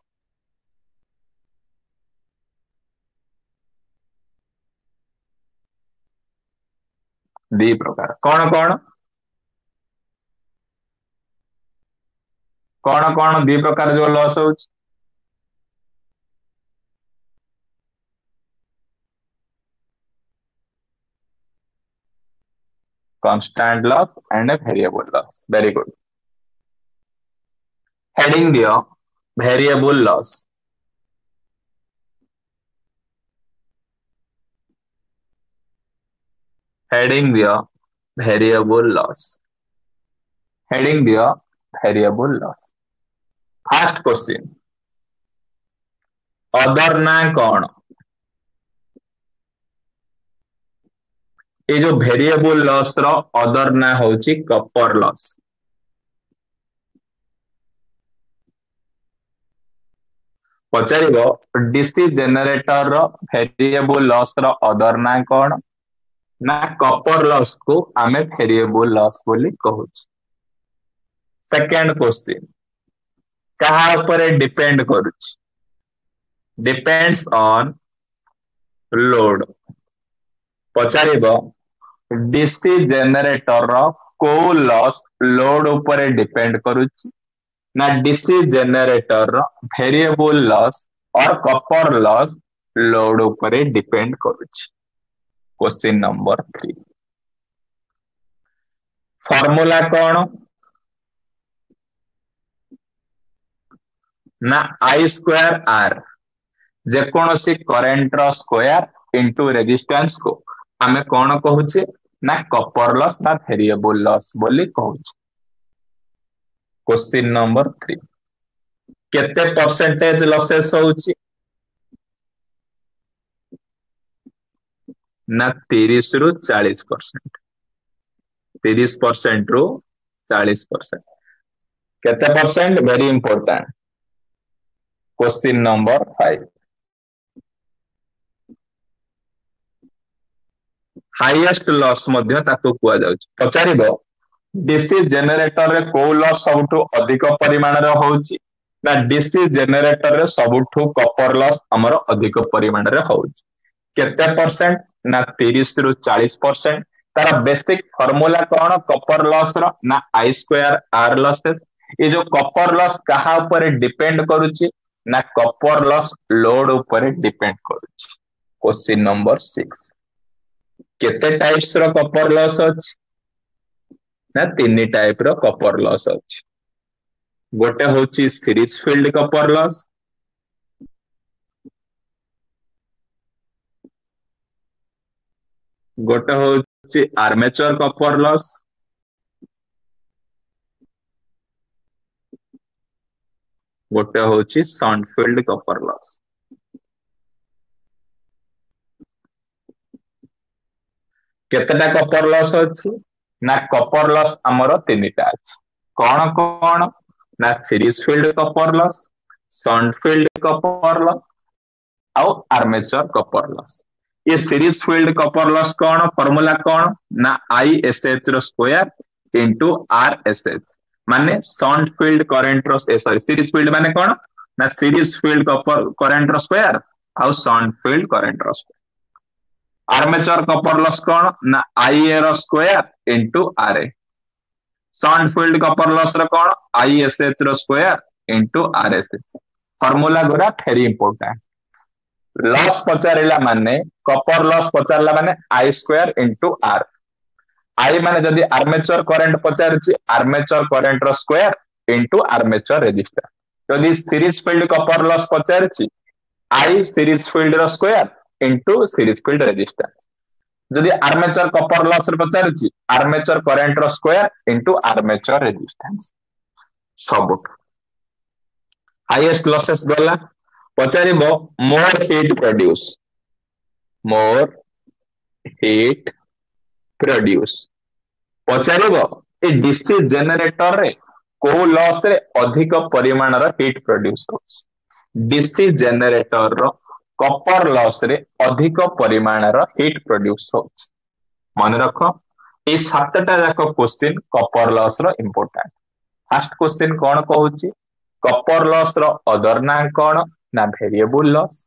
ଦି ପ୍ରକାର। କଣ କଣ? କଣ କଣ ଦି ପ୍ରକାର ଯୋଉ ଲସ୍ ହଉଛି? Constant loss and a variable loss, very good। Heading ଦିଅ, variable loss। Heading ଦିଅ, variable loss। Heading ଦିଅ, variable loss। First question, other ନା କଣ? ଏ ଯୋଉ ଭେରିଏବୁଲ ଲସ୍ ର ଅଦର ନା ହଉଛି କପର ଲସ୍। ପଚାରିବ, ଡିସି ଜେନେରେଟର ର ଭେରିଏବୁଲ ଲସ୍ ର ଅଦର ନା କଣ? ନା କପର ଲସ୍ କୁ ଆମେ ଭେରିଏବୁଲ ଲସ୍ ବୋଲି କହୁଛୁ। ସେକେଣ୍ଡ କ୍ୱେଶ୍ଚିନ୍, କାହା ଉପରେ ଡିପେଣ୍ଡ କରୁଛି? Depends on load. ପଚାରିବ, ଡିସି ଜେନେରେଟର ର କୋଉ ଲସ୍ ଲୋଡ ଉପରେ ଡିପେଣ୍ଡ କରୁଛି? ନା ଡିସି ଜେନେରେଟର ର ଭେରିଏବୁଲ ଲସ୍ ଅର କପର ଲସ୍ ଲୋଡ ଉପରେ ଡିପେଣ୍ଡ କରୁଛି। କ୍ୱେଶ୍ଚିନ୍ ନମ୍ବର 3, ଫର୍ମୁଲା କଣ? ନା I square ଆର। ଯେକୌଣସି କରେଣ୍ଟ ର ସ୍କୋୟାର ଇଣ୍ଟୁ ରେଜିଷ୍ଟାନ୍ସ କୁ ଆମେ କଣ କହୁଛେ? ନା କପର ଲସ୍ ବା ଭେରିଏବୁଲ ଲସ୍ ବୋଲି କହୁଛେ। କ୍ୱେଶ୍ଚିନ୍ ନମ୍ବର 3, କେତେ ପରସେଣ୍ଟେଜ ଲସେସ୍ ହଉଛି? ନା 30 ରୁ 40%। 30% ରୁ 40%। କେତେ percent? Very important. Question number 5, highest loss ମଧ୍ୟ ତାକୁ କୁହାଯାଉଛି। ପଚାରିବ, ଡିସି ଜେନେରେଟରରେ କୋଉ ଲସ୍ ସବୁଠୁ ଅଧିକ ପରିମାଣରେ ହଉଛି? ନା ଡିସି ଜେନେରେଟରରେ ସବୁଠୁ କପର ଲସ୍ ଆମର ଅଧିକ ପରିମାଣରେ ହଉଛି। କେତେ ପରସେଣ୍ଟ? ନା 30 ରୁ 40%। ତାର ବେସିକ ଫର୍ମୁଲା କଣ କପର ଲସ୍ ର? ନା I square R ଲସେସ୍। ଏ ଯୋଉ କପର ଲସ୍ କାହା ଉପରେ ଡିପେଣ୍ଡ କରୁଛି? ନା କପର ଲସ୍ ଲୋଡ ଉପରେ ଡିପେଣ୍ଡ କରୁଛି। କ୍ୱେଶ୍ଚିନ୍ ନମ୍ବର 6, କେତେ ଟାଇପ୍ସ ର କପର ଲସ୍ ଅଛି? ନା ତିନି ଟାଇପ ର କପର ଲସ୍ ଅଛି। ଗୋଟେ ହଉଛି ସିରିଜ ଫିଲ୍ଡ କପର ଲସ୍, ଗୋଟେ ହଉଛି ଆର୍ମେଚର କପର ଲସ୍, ଗୋଟେ ହଉଛି ସଣ୍ଟ ଫିଲ୍ଡ କପର ଲସ୍। କେତେଟା କପର ଲସ୍ ଅଛି? ନା କପର ଲସ୍ ଆମର ତିନିଟା ଅଛି। କଣ କଣ? ନା ସିରିଜ ଫିଲ୍ଡ କପର ଲସ୍, ସଣ୍ଟ ଫିଲ୍ଡ କପର ଲସ୍ ଆଉ ଆର୍ମେଚର କପର ଲସ୍। ଏ ସିରିଜ ଫିଲ୍ଡ କପର ଲସ୍ କଣ, ଫର୍ମୁଲା କଣ? ନା I S H ର square into R S H. ମାନେ ସଣ୍ଟ ଫିଲ୍ଡ କରେଣ୍ଟ ର, ସରି, ସିରିଜ ଫିଲ୍ଡ ମାନେ କଣ? ନା ସିରିଜ ଫିଲ୍ଡ କପର କରେଣ୍ଟ ର ସ୍କୋୟାର ଆଉ ସଣ୍ଟ ଫିଲ୍ଡ କରେଣ୍ଟ ର ସ୍କୋୟାର। ଆର୍ମେଚର କପର ଲସ୍ କଣ? ନା I ଏ ର ସ୍କୋୟାର ଇଣ୍ଟୁ ଆର ଏ। ସଣ୍ଟ ଫିଲ୍ଡ କପର ଲସ୍ ର କଣ? I S H ର square into R S H. Formula ଗୁଡା ଭେରି ଇମ୍ପୋର୍ଟାଣ୍ଟ। ଲସ୍ ପଚାରିଲା ମାନେ, କପର ଲସ୍ ପଚାରିଲା ମାନେ I square into R. I ମାନେ ଯଦି ଆର୍ମେଚର କରେଣ୍ଟ ପଚାରୁଛି, ଆର୍ମେଚର କରେଣ୍ଟ ର ସ୍କୋୟାର ଇଣ୍ଟୁ ଆର୍ମେଚର ରେଜିଷ୍ଟାନ୍ସ। ଯଦି ସିରିଜ ଫିଲ୍ଡ କପର ଲସ୍ ପଚାରୁଛି, I series field ର square into series field resistance. ଯଦି ଆର୍ମେଚର କପର ଲସ୍ ରେ ପଚାରୁଛି, ଆର୍ମେଚର କରେଣ୍ଟ ର ସ୍କୋୟାର ଇଣ୍ଟୁ ଆର୍ମେଚର ରେଜିଷ୍ଟାନ୍ସ। ସବୁଠୁ ହାଇଏଷ୍ଟ ଲସେସ୍ ଗଲା। ପଚାରିବ ମୋର ହିଟ୍ ପ୍ରଡ୍ୟୁସ, ମୋର ହିଟ୍ ପ୍ରଡ୍ୟୁସ ପଚାରିବ, ଏ ଡିସି ଜେନେରେଟରରେ କୋଉ ଲସ୍ ରେ ଅଧିକ ପରିମାଣର ହିଟ୍ ପ୍ରଡ୍ୟୁସ ହଉଛି? ଡିସି ଜେନେରେଟର ର କପର ଲସ୍ ରେ ଅଧିକ ପରିମାଣର ହିଟ୍ ପ୍ରଡ୍ୟୁସ ହଉଛି। ମନେ ରଖ, ଏଇ 7ଟା ଯାକ କ୍ୱେଶ୍ଚିନ୍ କପର ଲସ୍ ର ଇମ୍ପୋର୍ଟାଣ୍ଟ। ଫାର୍ଷ୍ଟ କ୍ୱେଶ୍ଚିନ୍ କଣ କହୁଛି? କପର ଲସ୍ ର ଅଦର ନାଁ କଣ? ନା ଭେରିଏବୁଲ ଲସ୍।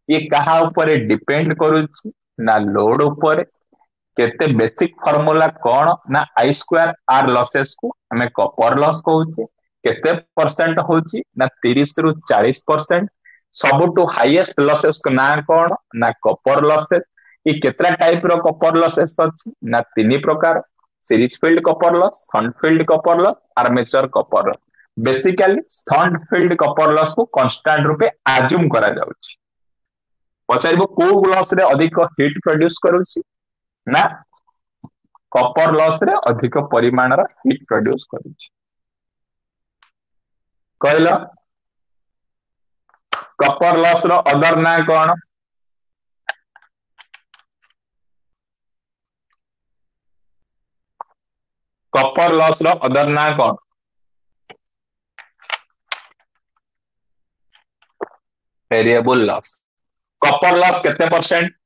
ଇଏ କାହା ଉପରେ ଡିପେଣ୍ଡ କରୁଛି? ନା ଲୋଡ ଉପରେ। କେତେ ବେସିକ ଫର୍ମୁଲା କଣ? ନା I square ଆର ଲସେସ୍ କୁ ଆମେ କପର ଲସ୍ କହୁଛେ। କେତେ ପରସେଣ୍ଟ ହଉଛି? ନା 30 ରୁ 40%। ସବୁଠୁ ହାଇଏଷ୍ଟ ଲସେସ୍ ନାଁ କଣ? ନା କପର ଲସେସ୍। ଏ କେତେଟା ଟାଇପ ର କପର ଲସେସ୍ ଅଛି? ନା ତିନି ପ୍ରକାର, ସିରିଜ ଫିଲ୍ଡ କପର ଲସ୍, ସଣ୍ଟ ଫିଲ୍ଡ କପର ଲସ୍, ଆର୍ମେଚର କପର ଲସ୍। ବେସିକାଲି ସଣ୍ଟ ଫିଲ୍ଡ କପର ଲସ୍ କୁ କନଷ୍ଟାଣ୍ଟ ରୂପେ ଆଜୁମ କରାଯାଉଛି। ପଚାରିବ କୋଉ ଲସ୍ ରେ ଅଧିକ ହିଟ୍ ପ୍ରଡ୍ୟୁସ କରୁଛି? ନା କପର ଲସ୍ ରେ ଅଧିକ ପରିମାଣର ହିଟ୍ ପ୍ରଡ୍ୟୁସ କରୁଛି। କହିଲ, କପର ଲସ୍ ର ଅଦର ନାଁ କଣ? କପର ଲସ୍ ର ଅଦର ନାଁ କଣ? Variable loss. କପର ଲସ୍ କେତେ ପରସେଣ୍ଟ?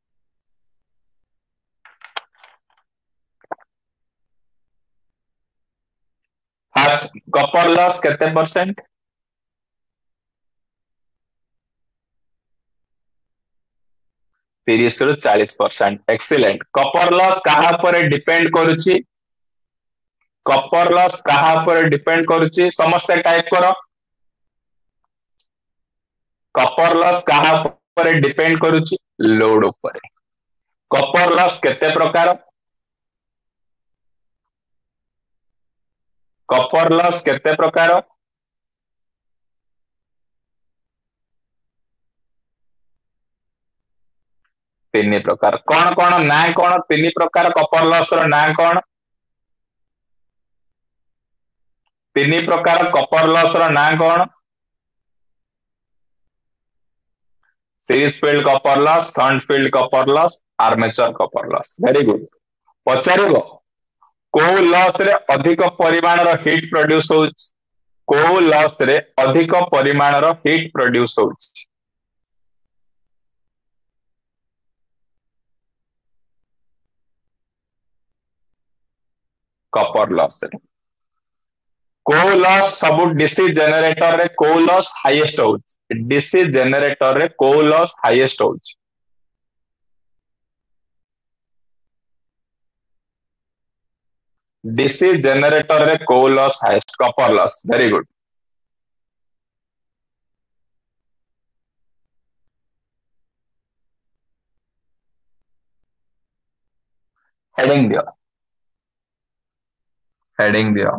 ଫାର୍ଷ୍ଟ, କପର ଲସ୍ କେତେ ପରସେଣ୍ଟ? 30 ରୁ 40%। ଏକ୍ସିଲେଣ୍ଟ। କପର ଲସ୍ କାହା ଉପରେ ଡିପେଣ୍ଡ କରୁଛି? କପର ଲସ୍ କାହା ଉପରେ ଡିପେଣ୍ଡ କରୁଛି? ସମସ୍ତେ ଟାଇପ କର। କପର ଲସ୍ କାହା ଉପରେ ଡିପେଣ୍ଡ କରୁଛି? ଲୋଡ ଉପରେ। କପର ଲସ୍ କେତେ ପ୍ରକାର? କପର ଲସ୍ କେତେ ପ୍ରକାର? ତିନି ପ୍ରକାର। କଣ କଣ, ନାଁ କଣ? ତିନି ପ୍ରକାର କପର ଲସ୍ ର ନାଁ କଣ? ତିନି ପ୍ରକାର କପର ଲସ୍ ର ନାଁ କଣ? Series field copper loss, shunt field copper loss, armature copper loss. Very good. ପଚାରିବ କୋଉ ଲସ୍ ରେ ଅଧିକ ପରିମାଣର ହିଟ୍ ପ୍ରଡ୍ୟୁସ ହଉଛି? କୋଉ ଲସ୍ ରେ ଅଧିକ ପରିମାଣର ହିଟ୍ ପ୍ରଡ୍ୟୁସ ହଉଛି? କପର ଲସ୍ ରେ। କୋଉ ଲସ୍ ସବୁ ଡିସି ଜେନେରେଟରରେ କୋଉ ଲସ୍ ହାଇଏଷ୍ଟ ହଉଛି? ଡିସି ଜେନେରେଟରରେ କୋଉ ଲସ୍ ହାଇଏଷ୍ଟ ହଉଛି? ଡିସି ଜେନେରେଟରରେ କୋଉ loss highest? Copper loss, very good. Heading ଦିଅ, ହେଡିଂ ଦିଅ,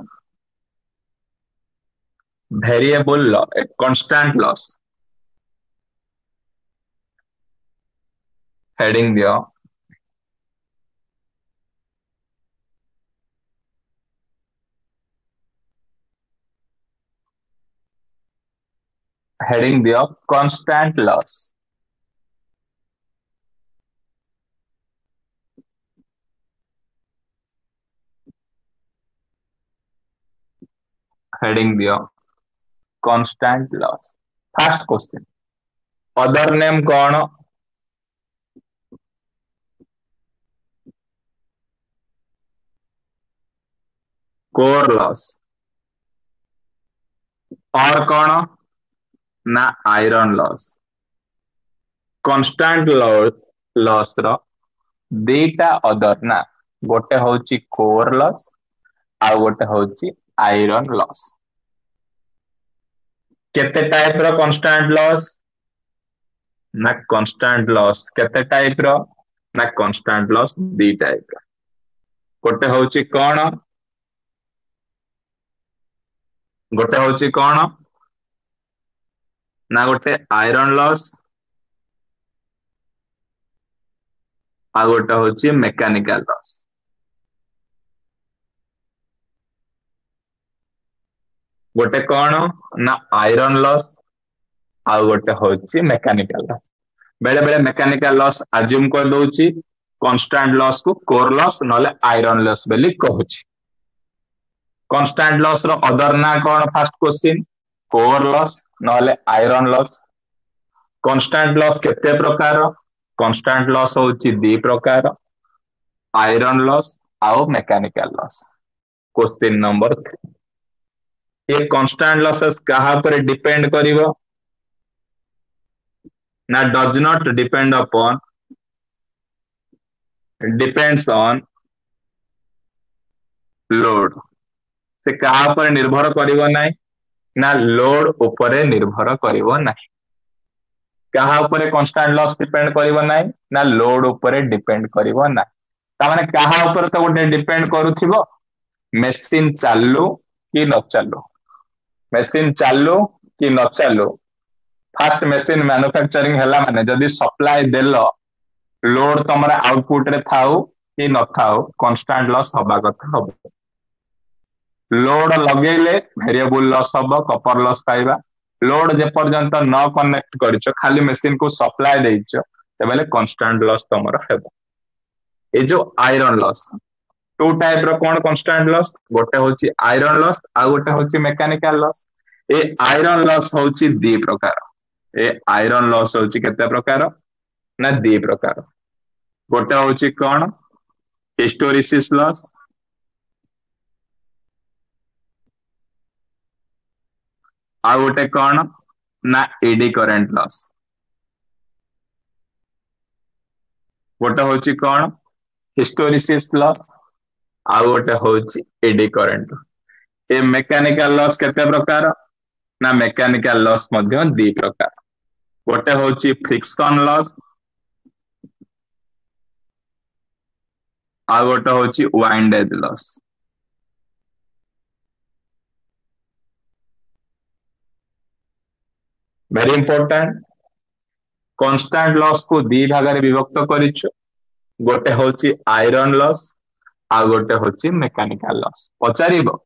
ଭେରିଏବଲ କନଷ୍ଟାଣ୍ଟ ଲସ୍। ହେଡିଂ ଦିଅ, ହେଡିଂ ଦିଅ, କନଷ୍ଟାଣ୍ଟ ଲସ୍। ହେଡିଂ ଦିଅ, constant loss. First question, other name କଣ? କୋର ଲସ୍ और କଣ ନା ଆଇରନ୍ ଲସ୍। କନଷ୍ଟାଣ୍ଟ ଲସ୍ ର ଦିଟା ଅଦର ନା, ଗୋଟେ ହଉଛି କୋର ଲସ୍ ଆଉ ଗୋଟେ ହଉଛି ଆଇରନ୍ ଲସ୍। କେତେ ଟାଇପ ର କନଷ୍ଟାଣ୍ଟ ଲସ୍? ନା କନଷ୍ଟାଣ୍ଟ ଲସ୍ କେତେ ଟାଇପ ର? ନା କନଷ୍ଟାଣ୍ଟ ଲସ୍ ଦି ଟାଇପ ର। ଗୋଟେ ହଉଛି କଣ? ଗୋଟେ ହଉଛି କଣ ନା ଗୋଟେ ଆଇରନ୍ ଲସ୍ ଆଉ ଗୋଟେ ହଉଛି ମେକାନିକାଲ ଲସ୍। ଗୋଟେ କଣ ନା ଆଇରନ୍ ଲସ୍ ଆଉ ଗୋଟେ ହଉଛି ମେକାନିକାଲ ଲସ୍। ବେଳେ ବେଳେ ମେକାନିକାଲ ଲସ୍ ଆଜ୍ୟୁମ କରିଦଉଛି, କନଷ୍ଟାଣ୍ଟ ଲସ୍ କୁ କୋର ଲସ୍ ନହେଲେ ଆଇରନ୍ ଲସ୍ ବୋଲି କହୁଛି। କନଷ୍ଟାଣ୍ଟ ଲସ୍ ର ଅଦର ନା କଣ? ଫାର୍ଷ୍ଟ କ୍ୱେଶ୍ଚିନ୍, କୋର ଲସ୍ ନହେଲେ ଆଇରନ୍ ଲସ୍। କନଷ୍ଟାଣ୍ଟ ଲସ୍ କେତେ ପ୍ରକାର? କନଷ୍ଟାଣ୍ଟ ଲସ୍ ହଉଛି ଦି ପ୍ରକାର, ଆଇରନ୍ ଲସ୍ ଆଉ ମେକାନିକାଲ ଲସ୍। କ୍ୱେଶ୍ଚିନ୍ ନମ୍ବର 3, ଏ କନଷ୍ଟାଣ୍ଟ ଲସେସ୍ କାହା ଉପରେ ଡିପେଣ୍ଡ କରିବ? ନା does not depend upon, depends on load. ସେ କାହା ଉପରେ ନିର୍ଭର କରିବ ନାହିଁ? ନା ଲୋଡ ଉପରେ ନିର୍ଭର କରିବ ନାହିଁ। କାହା ଉପରେ କନଷ୍ଟାଣ୍ଟ ଲସ୍ ଡିପେଣ୍ଡ କରିବ ନାହିଁ? ନା ଲୋଡ ଉପରେ ଡିପେଣ୍ଡ କରିବ ନାହିଁ। ତାମାନେ କାହା ଉପରେ ତ ଗୋଟେ ଡିପେଣ୍ଡ କରୁଥିବ, ମେସିନ ଚାଲୁ କି ନ ଚାଲୁ, ମେସିନ ଚାଲୁ କି ନ ଚାଲୁ। ଫାଷ୍ଟ ମେସିନ ମ୍ୟାନୁଫ୍ୟାକ୍ଚରିଂ ହେଲା ମାନେ ଯଦି ସପ୍ଲାଏ ଦେଲ, ଲୋଡ ତମର ଆଉଟପୁଟ ରେ ଥାଉ କି ନଥାଉ କନଷ୍ଟାଣ୍ଟ ଲସ୍ ହବା କଥା ହବ। ଲୋଡ ଲଗେଇଲେ ଭେରିଏବୁଲ ଲସ୍ ହବ, କପର ଲସ୍ ପାଇବା। ଲୋଡ ଯେପର୍ଯ୍ୟନ୍ତ ନ କନେକ୍ଟ କରିଛ, ଖାଲି ମେସିନ କୁ ସପ୍ଲାଏ ଦେଇଛ, ତେବେ କନଷ୍ଟାଣ୍ଟ ଲସ୍ ତମର ହେବ। ଏଇ ଯୋଉ ଆଇରନ୍ ଲସ୍, ଟୁ ଟାଇପ ର କଣ କନଷ୍ଟାଣ୍ଟ ଲସ୍? ଗୋଟେ ହଉଛି ଆଇରନ୍ ଲସ୍ ଆଉ ଗୋଟେ ହଉଛି ମେକାନିକାଲ ଲସ୍। ଏ ଆଇରନ୍ ଲସ୍ ହଉଛି ଦି ପ୍ରକାର। ଏ ଆଇରନ୍ ଲସ୍ ହଉଛି କେତେ ପ୍ରକାର? ନା ଦି ପ୍ରକାର। ଗୋଟେ ହଉଛି କଣ? ହିଷ୍ଟୋରିସିସ୍ ଲସ୍ ଆଉ ଗୋଟେ କଣ ନା ଏଡି କରେଣ୍ଟ ଲସ୍। ଗୋଟେ ହଉଛି କଣ? ହିଷ୍ଟୋରିସିସ୍ ଲସ୍ ଆଉ ଗୋଟେ ହଉଛି ଏଡି କରେଣ୍ଟ। ଏ ମେକାନିକାଲ ଲସ୍ କେତେ ପ୍ରକାର? ନା ମେକାନିକାଲ ଲସ୍ ମଧ୍ୟ ଦି ପ୍ରକାର। ଗୋଟେ ହଉଛି ଫ୍ରିକ୍ସନ ଲସ୍ ଆଉ ଗୋଟେ ହଉଛି ୱାଇଣ୍ଡେଜ loss. Very important. Constant loss କୁ ଦି ଭାଗରେ ବିଭକ୍ତ କରିଛୁ, ଗୋଟେ ହଉଛି ଆଇରନ୍ ଲସ୍ ଆଉ ଗୋଟେ ହଉଛି ମେକାନିକାଲ ଲସ୍। ପଚାରିବ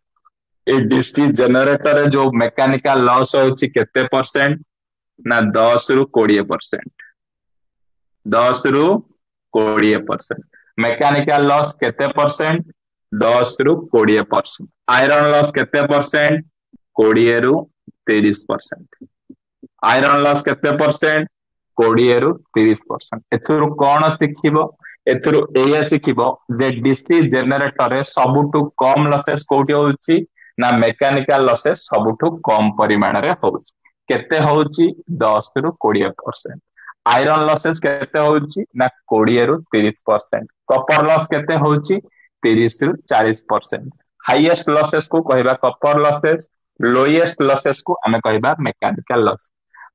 ଏ ଡିସି ଜେନେରେଟରରେ ଯୋଉ ମେକାନିକାଲ ଲସ୍ ହଉଛି କେତେ ପରସେଣ୍ଟ? ନା 10 ରୁ 20%। 10 ରୁ 20%। ମେକାନିକାଲ ଲସ୍ କେତେ ପରସେଣ୍ଟ? 10 ରୁ 20%। ଆଇରନ୍ ଲସ୍ କେତେ ପରସେଣ୍ଟ? 20 ରୁ 30%। ଆଇରନ୍ ଲସ୍ କେତେ ପରସେଣ୍ଟ? 20 ରୁ 30%। ଏଥିରୁ କଣ ଶିଖିବ? ଏଥିରୁ ଏଇଆ ଶିଖିବ ଯେ ଡିସି ଜେନେରେଟରରେ ସବୁଠୁ କମ ଲସେସ୍ କୋଉଠି ହଉଛି? ନା ମେକାନିକାଲ ଲସେସ୍ ସବୁଠୁ କମ ପରିମାଣରେ ହଉଛି। କେତେ ହଉଛି? 10ରୁ 20%। ଆଇରନ୍ ଲସେସ୍ କେତେ ହଉଛି ନା 20ରୁ 30%। କପର ଲସ୍ କେତେ ହଉଛି? 30ରୁ 40%। ହାଇଏଷ୍ଟ ଲସେସ୍ କୁ କହିବା କପର ଲସେସ୍, ଲୋଏଷ୍ଟ ଲସେସ୍ କୁ ଆମେ କହିବା ମେକାନିକାଲ ଲସ୍।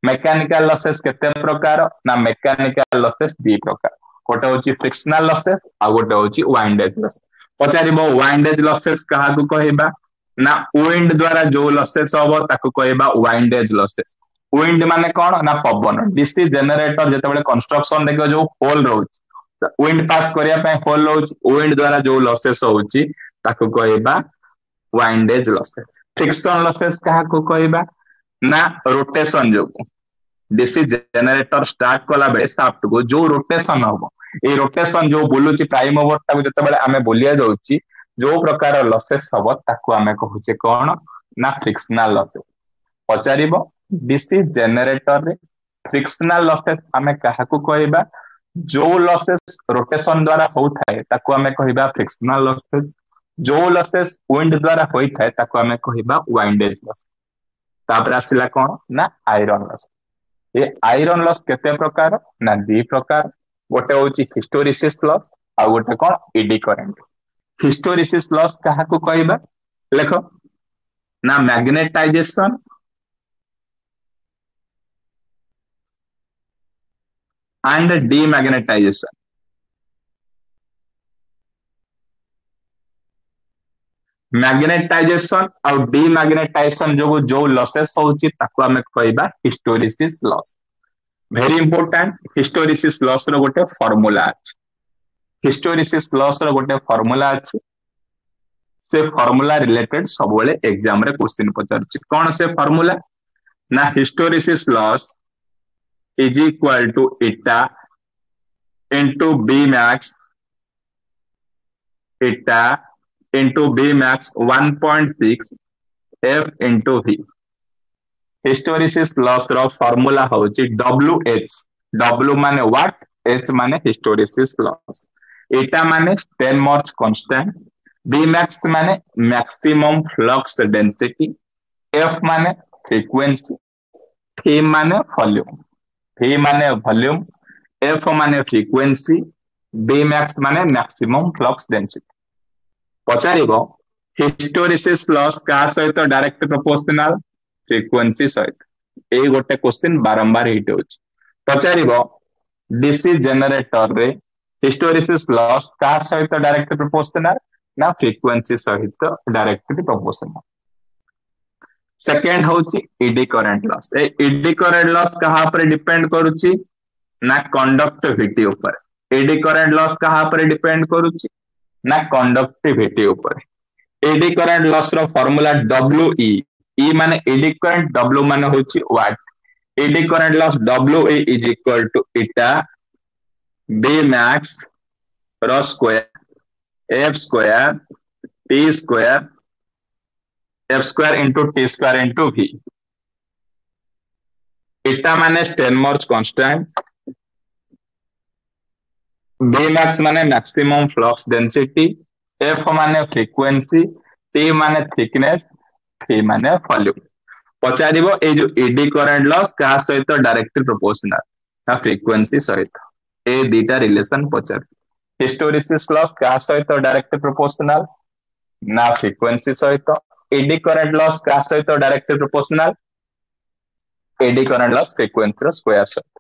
ମେକାନିକାଲ ଲସେସ୍ କେତେ ପ୍ରକାର ନା ମେକାନିକାଲ ଲସେସ୍ ଦି ପ୍ରକାର। ଗୋଟେ ହଉଛି ଫ୍ରିକ୍ସନାଲ ଲସେସ୍, ଆଉ ଗୋଟେ ହଉଛି ୱାଇଣ୍ଡେଜ ଲସ୍। ପଚାରିବ, ୱାଇଣ୍ଡେଜ ଲସେସ୍ କାହାକୁ କହିବା? ନା ୱିଣ୍ଡ ଦ୍ଵାରା ଯୋଉ ଲସେସ୍ ହବ, ତାକୁ କହିବା ୱାଇଣ୍ଡେଜ ଲସେସ୍। ୱିଣ୍ଡ ମାନେ କଣ ନା ପବନ। ଡିସି ଜେନେରେଟର ଯେତେବେଳେ କନଷ୍ଟ୍ରକ୍ସନ ଦେଖିବ, ଯୋଉ ହୋଲ ରହୁଛି, ୱିଣ୍ଡ ପାସ୍ କରିବା ପାଇଁ ହୋଲ ରହୁଛି, ୱିଣ୍ଡ ଦ୍ଵାରା ଯୋଉ ଲସେସ୍ ହଉଛି, ତାକୁ କହିବା ୱାଇଣ୍ଡେଜ ଲସେସ୍। ଫ୍ରିକ୍ସନ ଲସେସ୍ କାହାକୁ କହିବା ନା ରୋଟେସନ ଯୋଗୁ ଡିସି ଜେନେରେଟର ଷ୍ଟାର୍ଟ କଲା ବେଳେ ସାଫ୍ଟ କୁ ଯୋଉ ରୋଟେସନ ହବ, ଏଇ ରୋଟେସନ ଯୋଉ ବୁଲୁଛି, ପ୍ରାଇମ ମୁଭର ଟାକୁ ଯେତେବେଳେ ଆମେ ବୁଲିଆ ଦଉଛି, ଯୋଉ ପ୍ରକାର ଲସେସ୍ ହବ, ତାକୁ ଆମେ କହୁଛେ କଣ ନା ଫ୍ରିକ୍ସନାଲ ଲସେସ୍। ପଚାରିବ, ଡିସି ଜେନେରେଟରରେ ଫ୍ରିକ୍ସନାଲ ଲସେସ୍ ଆମେ କାହାକୁ କହିବା? ଯୋଉ ଲସେସ୍ ରୋଟେସନ ଦ୍ଵାରା ହଉଥାଏ, ତାକୁ ଆମେ କହିବା ଫ୍ରିକ୍ସନାଲ ଲସେସ୍। ଯୋଉ ଲସେସ୍ ୱିଣ୍ଡ ଦ୍ଵାରା ହୋଇଥାଏ, ତାକୁ ଆମେ କହିବା ୱାଇଣ୍ଡେଜ ଲସ୍। ତାପରେ ଆସିଲା କଣ ନା ଆଇରନ୍ ଲସ୍। ଏ ଆଇରନ୍ ଲସ୍ କେତେ ପ୍ରକାର ନା ଦି ପ୍ରକାର। ଗୋଟେ ହଉଛି ହିଷ୍ଟେରିସିସ୍ ଲସ୍, ଆଉ ଗୋଟେ କଣ? ED current. ହିଷ୍ଟେରିସିସ୍ ଲସ୍ କାହାକୁ କହିବା? ଲେଖ ନା ମ୍ୟାଗ୍ନେଟାଇଜେସନ and demagnetization। Magnetization ଆଉ ଡିମାଗ୍ନେଟାଇଜେସନ ଯୋଗୁ ଯୋଉ ଲସେସ୍ ହଉଛି, ତାକୁ ଆମେ କହିବା ହିଷ୍ଟେରିସିସ୍ ଲସ୍। ଭେରି ଇମ୍ପୋର୍ଟାଣ୍ଟ, ହିଷ୍ଟେରିସିସ୍ ଲସ୍ ର ଗୋଟେ ଫର୍ମୁଲା ଅଛି। ହିଷ୍ଟେରିସିସ୍ ଲସ୍ ର ଗୋଟେ ଫର୍ମୁଲା ଅଛି। ସେ ଫର୍ମୁଲା ରିଲେଟେଡ ସବୁବେଳେ ଏକ୍ସାମ ରେ କ୍ୱେଶ୍ଚିନ୍ ପଚାରୁଛି। କଣ ସେ ଫର୍ମୁଲା ନା hysteresis loss is equal to eta into B max, eta into B max 1.6 F into V। Hysteresis loss ର ଫର୍ମୁଲା ହଉଛି ଡବ୍ଲୁ ଏଚ୍। ଡବ୍ଲୁ ମାନେ ୱାଟ, ଏଚ୍ ମାନେ ହିଷ୍ଟେରିସିସ୍ ଲସ୍, ଇଟା ମାନେ ଷ୍ଟେନମର୍ଜ କନଷ୍ଟାଣ୍ଟ, ବି ମ୍ୟାକ୍ସ ମାନେ ମ୍ୟାକ୍ସିମମ୍ ଫ୍ଲକ୍ସ ଡେନ୍ସିଟି, ଏଫ୍ ମାନେ ଫ୍ରିକ୍ୱେନ୍ସି, ଭି ମାନେ ଭଲ୍ୟୁମ। ଭି ମାନେ ଭଲ୍ୟୁମ, ଏଫ୍ ମାନେ ଫ୍ରିକ୍ୱେନ୍ସି, ବି ମ୍ୟାକ୍ସ ମାନେ ମ୍ୟାକ୍ସିମମ୍ ଫ୍ଲକ୍ସ ଡେନ୍ସିଟି। ପଚାରିବ, ହିଷ୍ଟେରିସିସ୍ ଲସ୍ କାହା ସହିତ ଡାଇରେକ୍ଟ ପ୍ରପୋର୍ସନାଲ? ଫ୍ରିକ୍ୱେନ୍ସି ସହିତ। ଏଇ ଗୋଟେ କ୍ୱେଶ୍ଚିନ୍ ବାରମ୍ବାର ହିଟ୍ ହଉଛି। ପଚାରିବ, ଡିସି ଜେନେରେଟରରେ ହିଷ୍ଟେରିସିସ୍ ଲସ୍ କାହା ସହିତ ଡାଇରେକ୍ଟ ପ୍ରପୋର୍ସନାଲ? ନା ଫ୍ରିକ୍ୱେନ୍ସି ସହିତ ଡାଇରେକ୍ଟ ପ୍ରପୋର୍ସନାଲ। ସେକେଣ୍ଡ ହଉଛି ଇଡି କରେଣ୍ଟ ଲସ୍। ଏ ଇଡି କରେଣ୍ଟ ଲସ୍ କାହା ଉପରେ ଡିପେଣ୍ଡ କରୁଛି ନା କଣ୍ଡକ୍ଟିଭିଟି ଉପରେ। ଇଡି କରେଣ୍ଟ ଲସ୍ କାହା ଉପରେ ଡିପେଣ୍ଡ କରୁଛି ନା କଣ୍ଡକ୍ଟିଭିଟି ଉପରେ। ଇଡି କରେଣ୍ଟ ଲସ୍ ର ଫର୍ମୁଲା ଡବ୍ଲୁ ଇ। ଇ ମାନେ ଇଡି କରେଣ୍ଟ, ଡବ୍ଲୁ ମାନେ ହଉଛି watt. Eddy current loss W E is equal to eta B max ର square F square T square, F square into T square into V। ଇଟା ମାନେ ଷ୍ଟେନମର୍ଜ କନଷ୍ଟାଣ୍ଟ, ବି ମ୍ୟାକ୍ସ ମାନେ ମ୍ୟାକ୍ସିମମ୍ ଫ୍ଲକ୍ସ ଡେନ୍ସିଟି, ଏଫ୍ ମାନେ ଫ୍ରିକ୍ୱେନ୍ସି, ଟି ମାନେ ଥିକନେସ୍, ଭି ମାନେ ଭଲ୍ୟୁମ। ପଚାରିବ, ଏଇ ଯୋଉ ଇଡି କରେଣ୍ଟ ଲସ୍ କାହା ସହିତ ଡାଇରେକ୍ଟ ପ୍ରପୋର୍ସନାଲ ନା ଫ୍ରିକ୍ୱେନ୍ସି ସହିତ। ଏ ଦିଟା ରିଲେସନ ପଚାରୁ। ହିଷ୍ଟେରିସିସ୍ ଲସ୍ କାହା ସହିତ ଡାଇରେକ୍ଟ ପ୍ରପୋର୍ସନାଲ ନା ଫ୍ରିକ୍ୱେନ୍ସି ସହିତ। ଇଡି କରେଣ୍ଟ ଲସ୍ କାହା ସହିତ ଡାଇରେକ୍ଟ ପ୍ରପୋର୍ସନାଲ? ଏଡି କରେଣ୍ଟ ଲସ୍ ଫ୍ରିକ୍ୱେନ୍ସିର ସ୍କୋୟାର ସହିତ।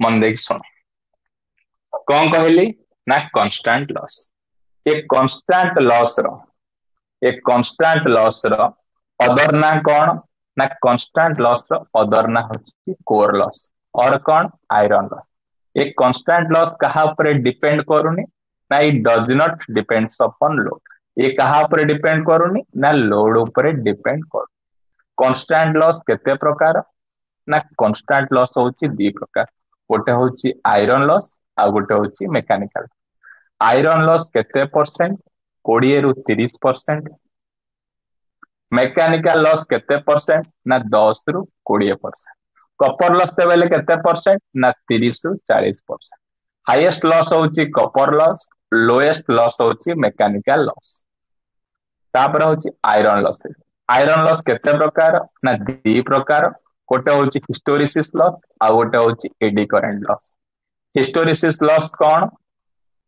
ମନ ଦେଇକି ଶୁଣ, କଣ କହିଲି ନା କନଷ୍ଟାଣ୍ଟ ଲସ୍। ଏ କନଷ୍ଟାଣ୍ଟ ଲସ୍ ର ଅଦର ନା କଣ ନା କନଷ୍ଟାଣ୍ଟ ଲସ୍ ର ଅଦର ନା ହଉଛି କୋର ଲସ୍ ଅର କଣ ଆଇରନ୍ ଲସ୍। ଏ କନଷ୍ଟାଣ୍ଟ ଲସ୍ କାହା ଉପରେ ଡିପେଣ୍ଡ କରୁନି ନା it does not depends upon load। ଏ କାହା ଉପରେ ଡିପେଣ୍ଡ କରୁନି ନା ଲୋଡ ଉପରେ ଡିପେଣ୍ଡ କରୁନି। କନଷ୍ଟାଣ୍ଟ ଲସ୍ କେତେ ପ୍ରକାର ନା କନଷ୍ଟାଣ୍ଟ ଲସ୍ ହଉଛି ଦି ପ୍ରକାର। ଗୋଟେ ହଉଛି ଆଇରନ୍ ଲସ୍, ଆଉ ଗୋଟେ ହଉଛି ମେକାନିକାଲ। ଆଇରନ୍ ଲସ୍ କେତେ ପରସେଣ୍ଟ? 20ରୁ 30%। ମେକାନିକାଲ ଲସ୍ କେତେ ପରସେଣ୍ଟ ନା 10ରୁ 20%। କପର ଲସ୍ ଦେଲେ କେତେ ପରସେଣ୍ଟ ନା 30ରୁ 40%। ହାଇଏଷ୍ଟ ଲସ୍ ହଉଛି କପର ଲସ୍, ଲୋଏଷ୍ଟ ଲସ୍ ହଉଛି ମେକାନିକାଲ ଲସ୍। ତାପରେ ହଉଛି ଆଇରନ୍ ଲସ୍। ଆଇରନ୍ ଲସ୍ କେତେ ପ୍ରକାର ନା ଦି ପ୍ରକାର। ଗୋଟେ ହଉଛି ହିଷ୍ଟେରିସିସ୍ ଲସ୍, ଆଉ ଗୋଟେ ହଉଛି ଏଡି କରେଣ୍ଟ ଲସ୍। ହିଷ୍ଟେରିସିସ୍ ଲସ୍ କଣ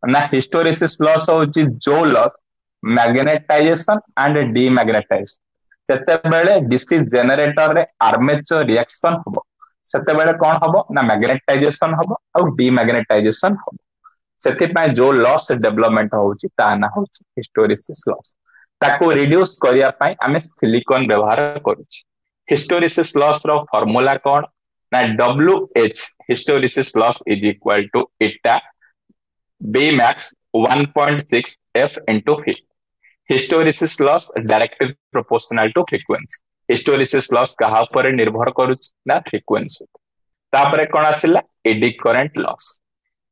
ନା ହିଷ୍ଟେରିସିସ୍ ଲସ୍ ହଉଛି ଯୋଉ ଲସ୍ ମ୍ୟାଗ୍ନେଟାଇଜେସନ ଆଣ୍ଡ ଡିମ୍ୟାଗ୍ନେଟାଇଜେସନ, ଯେତେବେଳେ ଡିସି ଜେନେରେଟରରେ ଆର୍ମେଚର ରିଆକ୍ସନ ହବ, ସେତେବେଳେ କଣ ହବ ନା ମ୍ୟାଗ୍ନେଟାଇଜେସନ ହବ ଆଉ ଡିମ୍ୟାଗ୍ନେଟାଇଜେସନ ହବ। ସେଥିପାଇଁ ଯୋଉ ଲସ୍ ଡେଭଲପମେଣ୍ଟ ହଉଛି, ତା ନାଁ ହଉଛି ହିଷ୍ଟେରିସିସ୍ ଲସ୍। ତାକୁ ରିଡ୍ୟୁସ କରିବା ପାଇଁ ଆମେ ସିଲିକନ ବ୍ୟବହାର କରୁଛେ। ହିଷ୍ଟେରିସିସ୍ ଲସ୍ ର ଫର୍ମୁଲା କଣ ନା WH, hysteresis loss is equal to eta B max 1.6 F into V। Hysteresis loss directly proportional to frequency। Hysteresis loss କାହା ଉପରେ ନିର୍ଭର କରୁଛି ନା ଫ୍ରିକ୍ୱେନ୍ସି। ତାପରେ କଣ ଆସିଲା? ଏଡି କରେଣ୍ଟ ଲସ୍।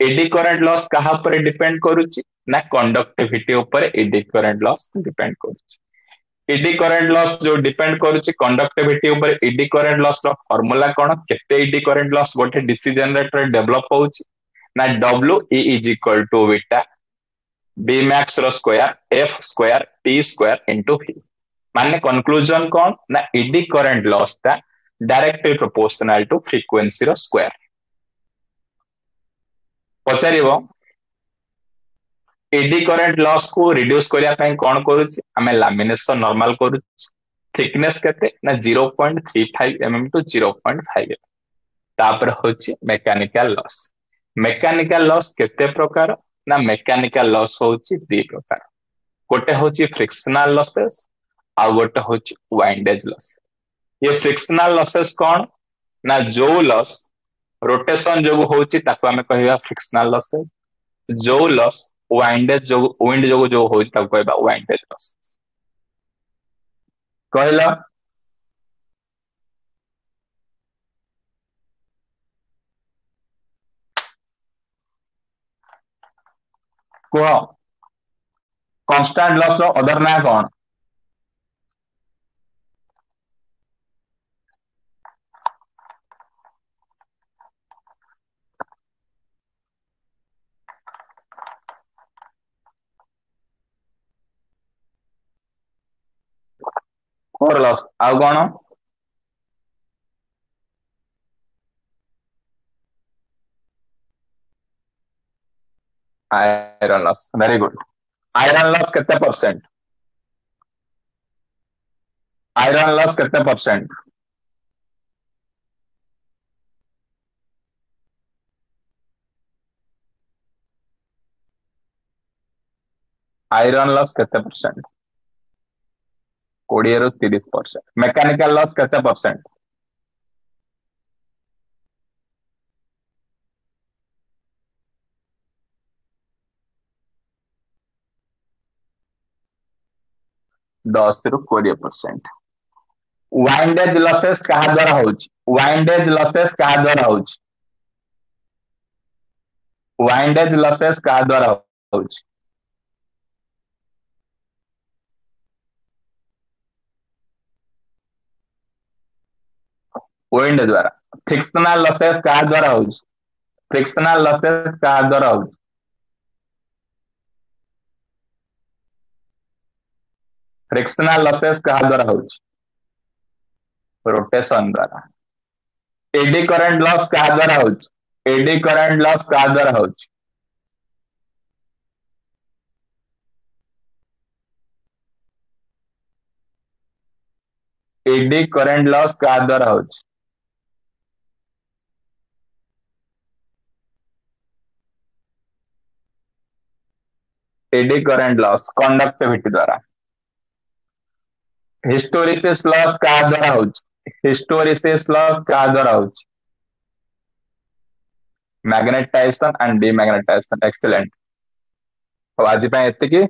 ଏଡି କରେଣ୍ଟ ଲସ୍ କାହା ଉପରେ ଡିପେଣ୍ଡ କରୁଛି ନା କଣ୍ଡକ୍ଟିଭିଟି ଉପରେ ଏଡି କରେଣ୍ଟ ଲସ୍ ଡିପେଣ୍ଡ କରୁଛି। ଏଡି କରେଣ୍ଟ ଲସ୍ ଯୋଉ ଡିପେଣ୍ଡ କରୁଛି କଣ୍ଡକ୍ଟିଭିଟି ଉପରେ, ଏଡି କରେଣ୍ଟ ଲସ୍ ର ଫର୍ମୁଲା କଣ? କେତେ ଏଡି କରେଣ୍ଟ ଲସ୍ ଗୋଟେ ଡିସି ଜେନେରେଟର ଡେଭଲପ ହଉଛି ନା W E is equal to beta B max ର square F square T square into V। ମାନେ କନକ୍ଲୁଜନ କଣ ନା ଏଡି କରେଣ୍ଟ ଲସ୍ ଟା ଡାଇରେକ୍ଟଲି ପ୍ରୋପୋର୍ସନାଲ ଟୁ ଫ୍ରିକ୍ୱେନ୍ସି ର ସ୍କୋୟାର। ପଚାରିବ, ଏଡି କରେଣ୍ଟ ଲସ୍ କୁ ରିଡ୍ୟୁସ କରିବା ପାଇଁ କଣ କରୁଛି? ଆମେ ଲାମିନେସନ ନର୍ମାଲ କରୁଛୁ। ଥିକନେସ୍ କେତେ ନା 0.35 mm to 0.5। ତାପରେ ହଉଛି ମେକାନିକାଲ ଲସ୍। ମେକାନିକାଲ ଲସ୍ କେତେ ପ୍ରକାର ନା ମେକାନିକାଲ ଲସ୍ ହଉଛି ଦି ପ୍ରକାର। ଗୋଟେ ହଉଛି ଫ୍ରିକ୍ସନାଲ ଲସେସ୍, ଆଉ ଗୋଟେ ହଉଛି ୱାଇଣ୍ଡେଜ ଲସ୍। ଇଏ ଫ୍ରିକ୍ସନାଲ ଲସେସ୍ କଣ ନା ଯୋଉ ଲସ୍ ରୋଟେସନ ଯୋଗୁ ହଉଛି, ତାକୁ ଆମେ କହିବା ଫ୍ରିକ୍ସନାଲ ଲସେସ୍। ଯୋଉ ଲସ୍ ୱାଇଣ୍ଡେଜ ଯୋଗୁ, ୱିଣ୍ଡ ଯୋଗୁ ଯୋଉ ହଉଛି, ତାକୁ କହିବା ୱାଇଣ୍ଡେଜ ଲସ୍। କହିଲ। କୁହ, କନଷ୍ଟାଣ୍ଟ ଲସ୍ ର ଅଦର ନାଁ କଣ? କୋର ଲସ୍, ଆଉ କଣ? Iron loss, very good. Iron loss କେତେ ପରସେଣ୍ଟ? ଆଇରନ୍ ଲସ୍ କେତେ ପରସେଣ୍ଟ? ଆଇରନ୍ ଲସ୍ କେତେ ପରସେଣ୍ଟ? 20ରୁ 30%। ମେକାନିକାଲ ଲସ୍ କେତେ ପରସେଣ୍ଟ? 10ରୁ 20%। ୱାଇଣ୍ଡେଜ ଲସେସ୍ କାହା ଦ୍ଵାରା ହଉଛି? ୱାଇଣ୍ଡେଜ ଲସେସ୍ କାହା ଦ୍ଵାରା ହଉଛି? ୱାଇଣ୍ଡେଜ ଲସେସ୍ କାହା ଦ୍ଵାରା ହଉଛି? ୱିଣ୍ଡ ଦ୍ଵାରା। ଫ୍ରିକ୍ସନାଲ ଲସେସ୍ କାହା ଦ୍ଵାରା ହଉଛି? ଫ୍ରିକ୍ସନାଲ ଲସେସ୍ କାହା ଦ୍ଵାରା ହଉଛି? ଫ୍ରିକ୍ସନାଲ ଲସେସ୍ କାହା ଦ୍ଵାରା ହଉଛି? ରୋଟେସନ ଦ୍ଵାରା। ଏଡି କରେଣ୍ଟ ଲସ୍ କାହା ଦ୍ଵାରା ହଉଛି? ଏଡି କରେଣ୍ଟ ଲସ୍ କାହା ଦ୍ଵାରା ହଉଛି? ଏଡି କରେଣ୍ଟ ଲସ୍ କାହା ଦ୍ଵାରା ହଉଛି? ଏଡି କରେଣ୍ଟ ଲସ୍ କଣ୍ଡକ୍ଟିଭିଟି ଦ୍ଵାରା। ହିଷ୍ଟେରିସିସ୍ ଲସ୍ କାହା ଦ୍ଵାରା ହଉଛି? ହିଷ୍ଟେରିସିସ୍ ଲସ୍ କାହା ଦ୍ଵାରା ହଉଛି? ମ୍ୟାଗ୍ନେଟାଇଜେସନ ଆଣ୍ଡ ଡିମ୍ୟାଗ୍ନେଟାଇଜେସନ। ଏକ୍ସେଲେଣ୍ଟ। ହଉ, ଆଜି ପାଇଁ ଏତିକି।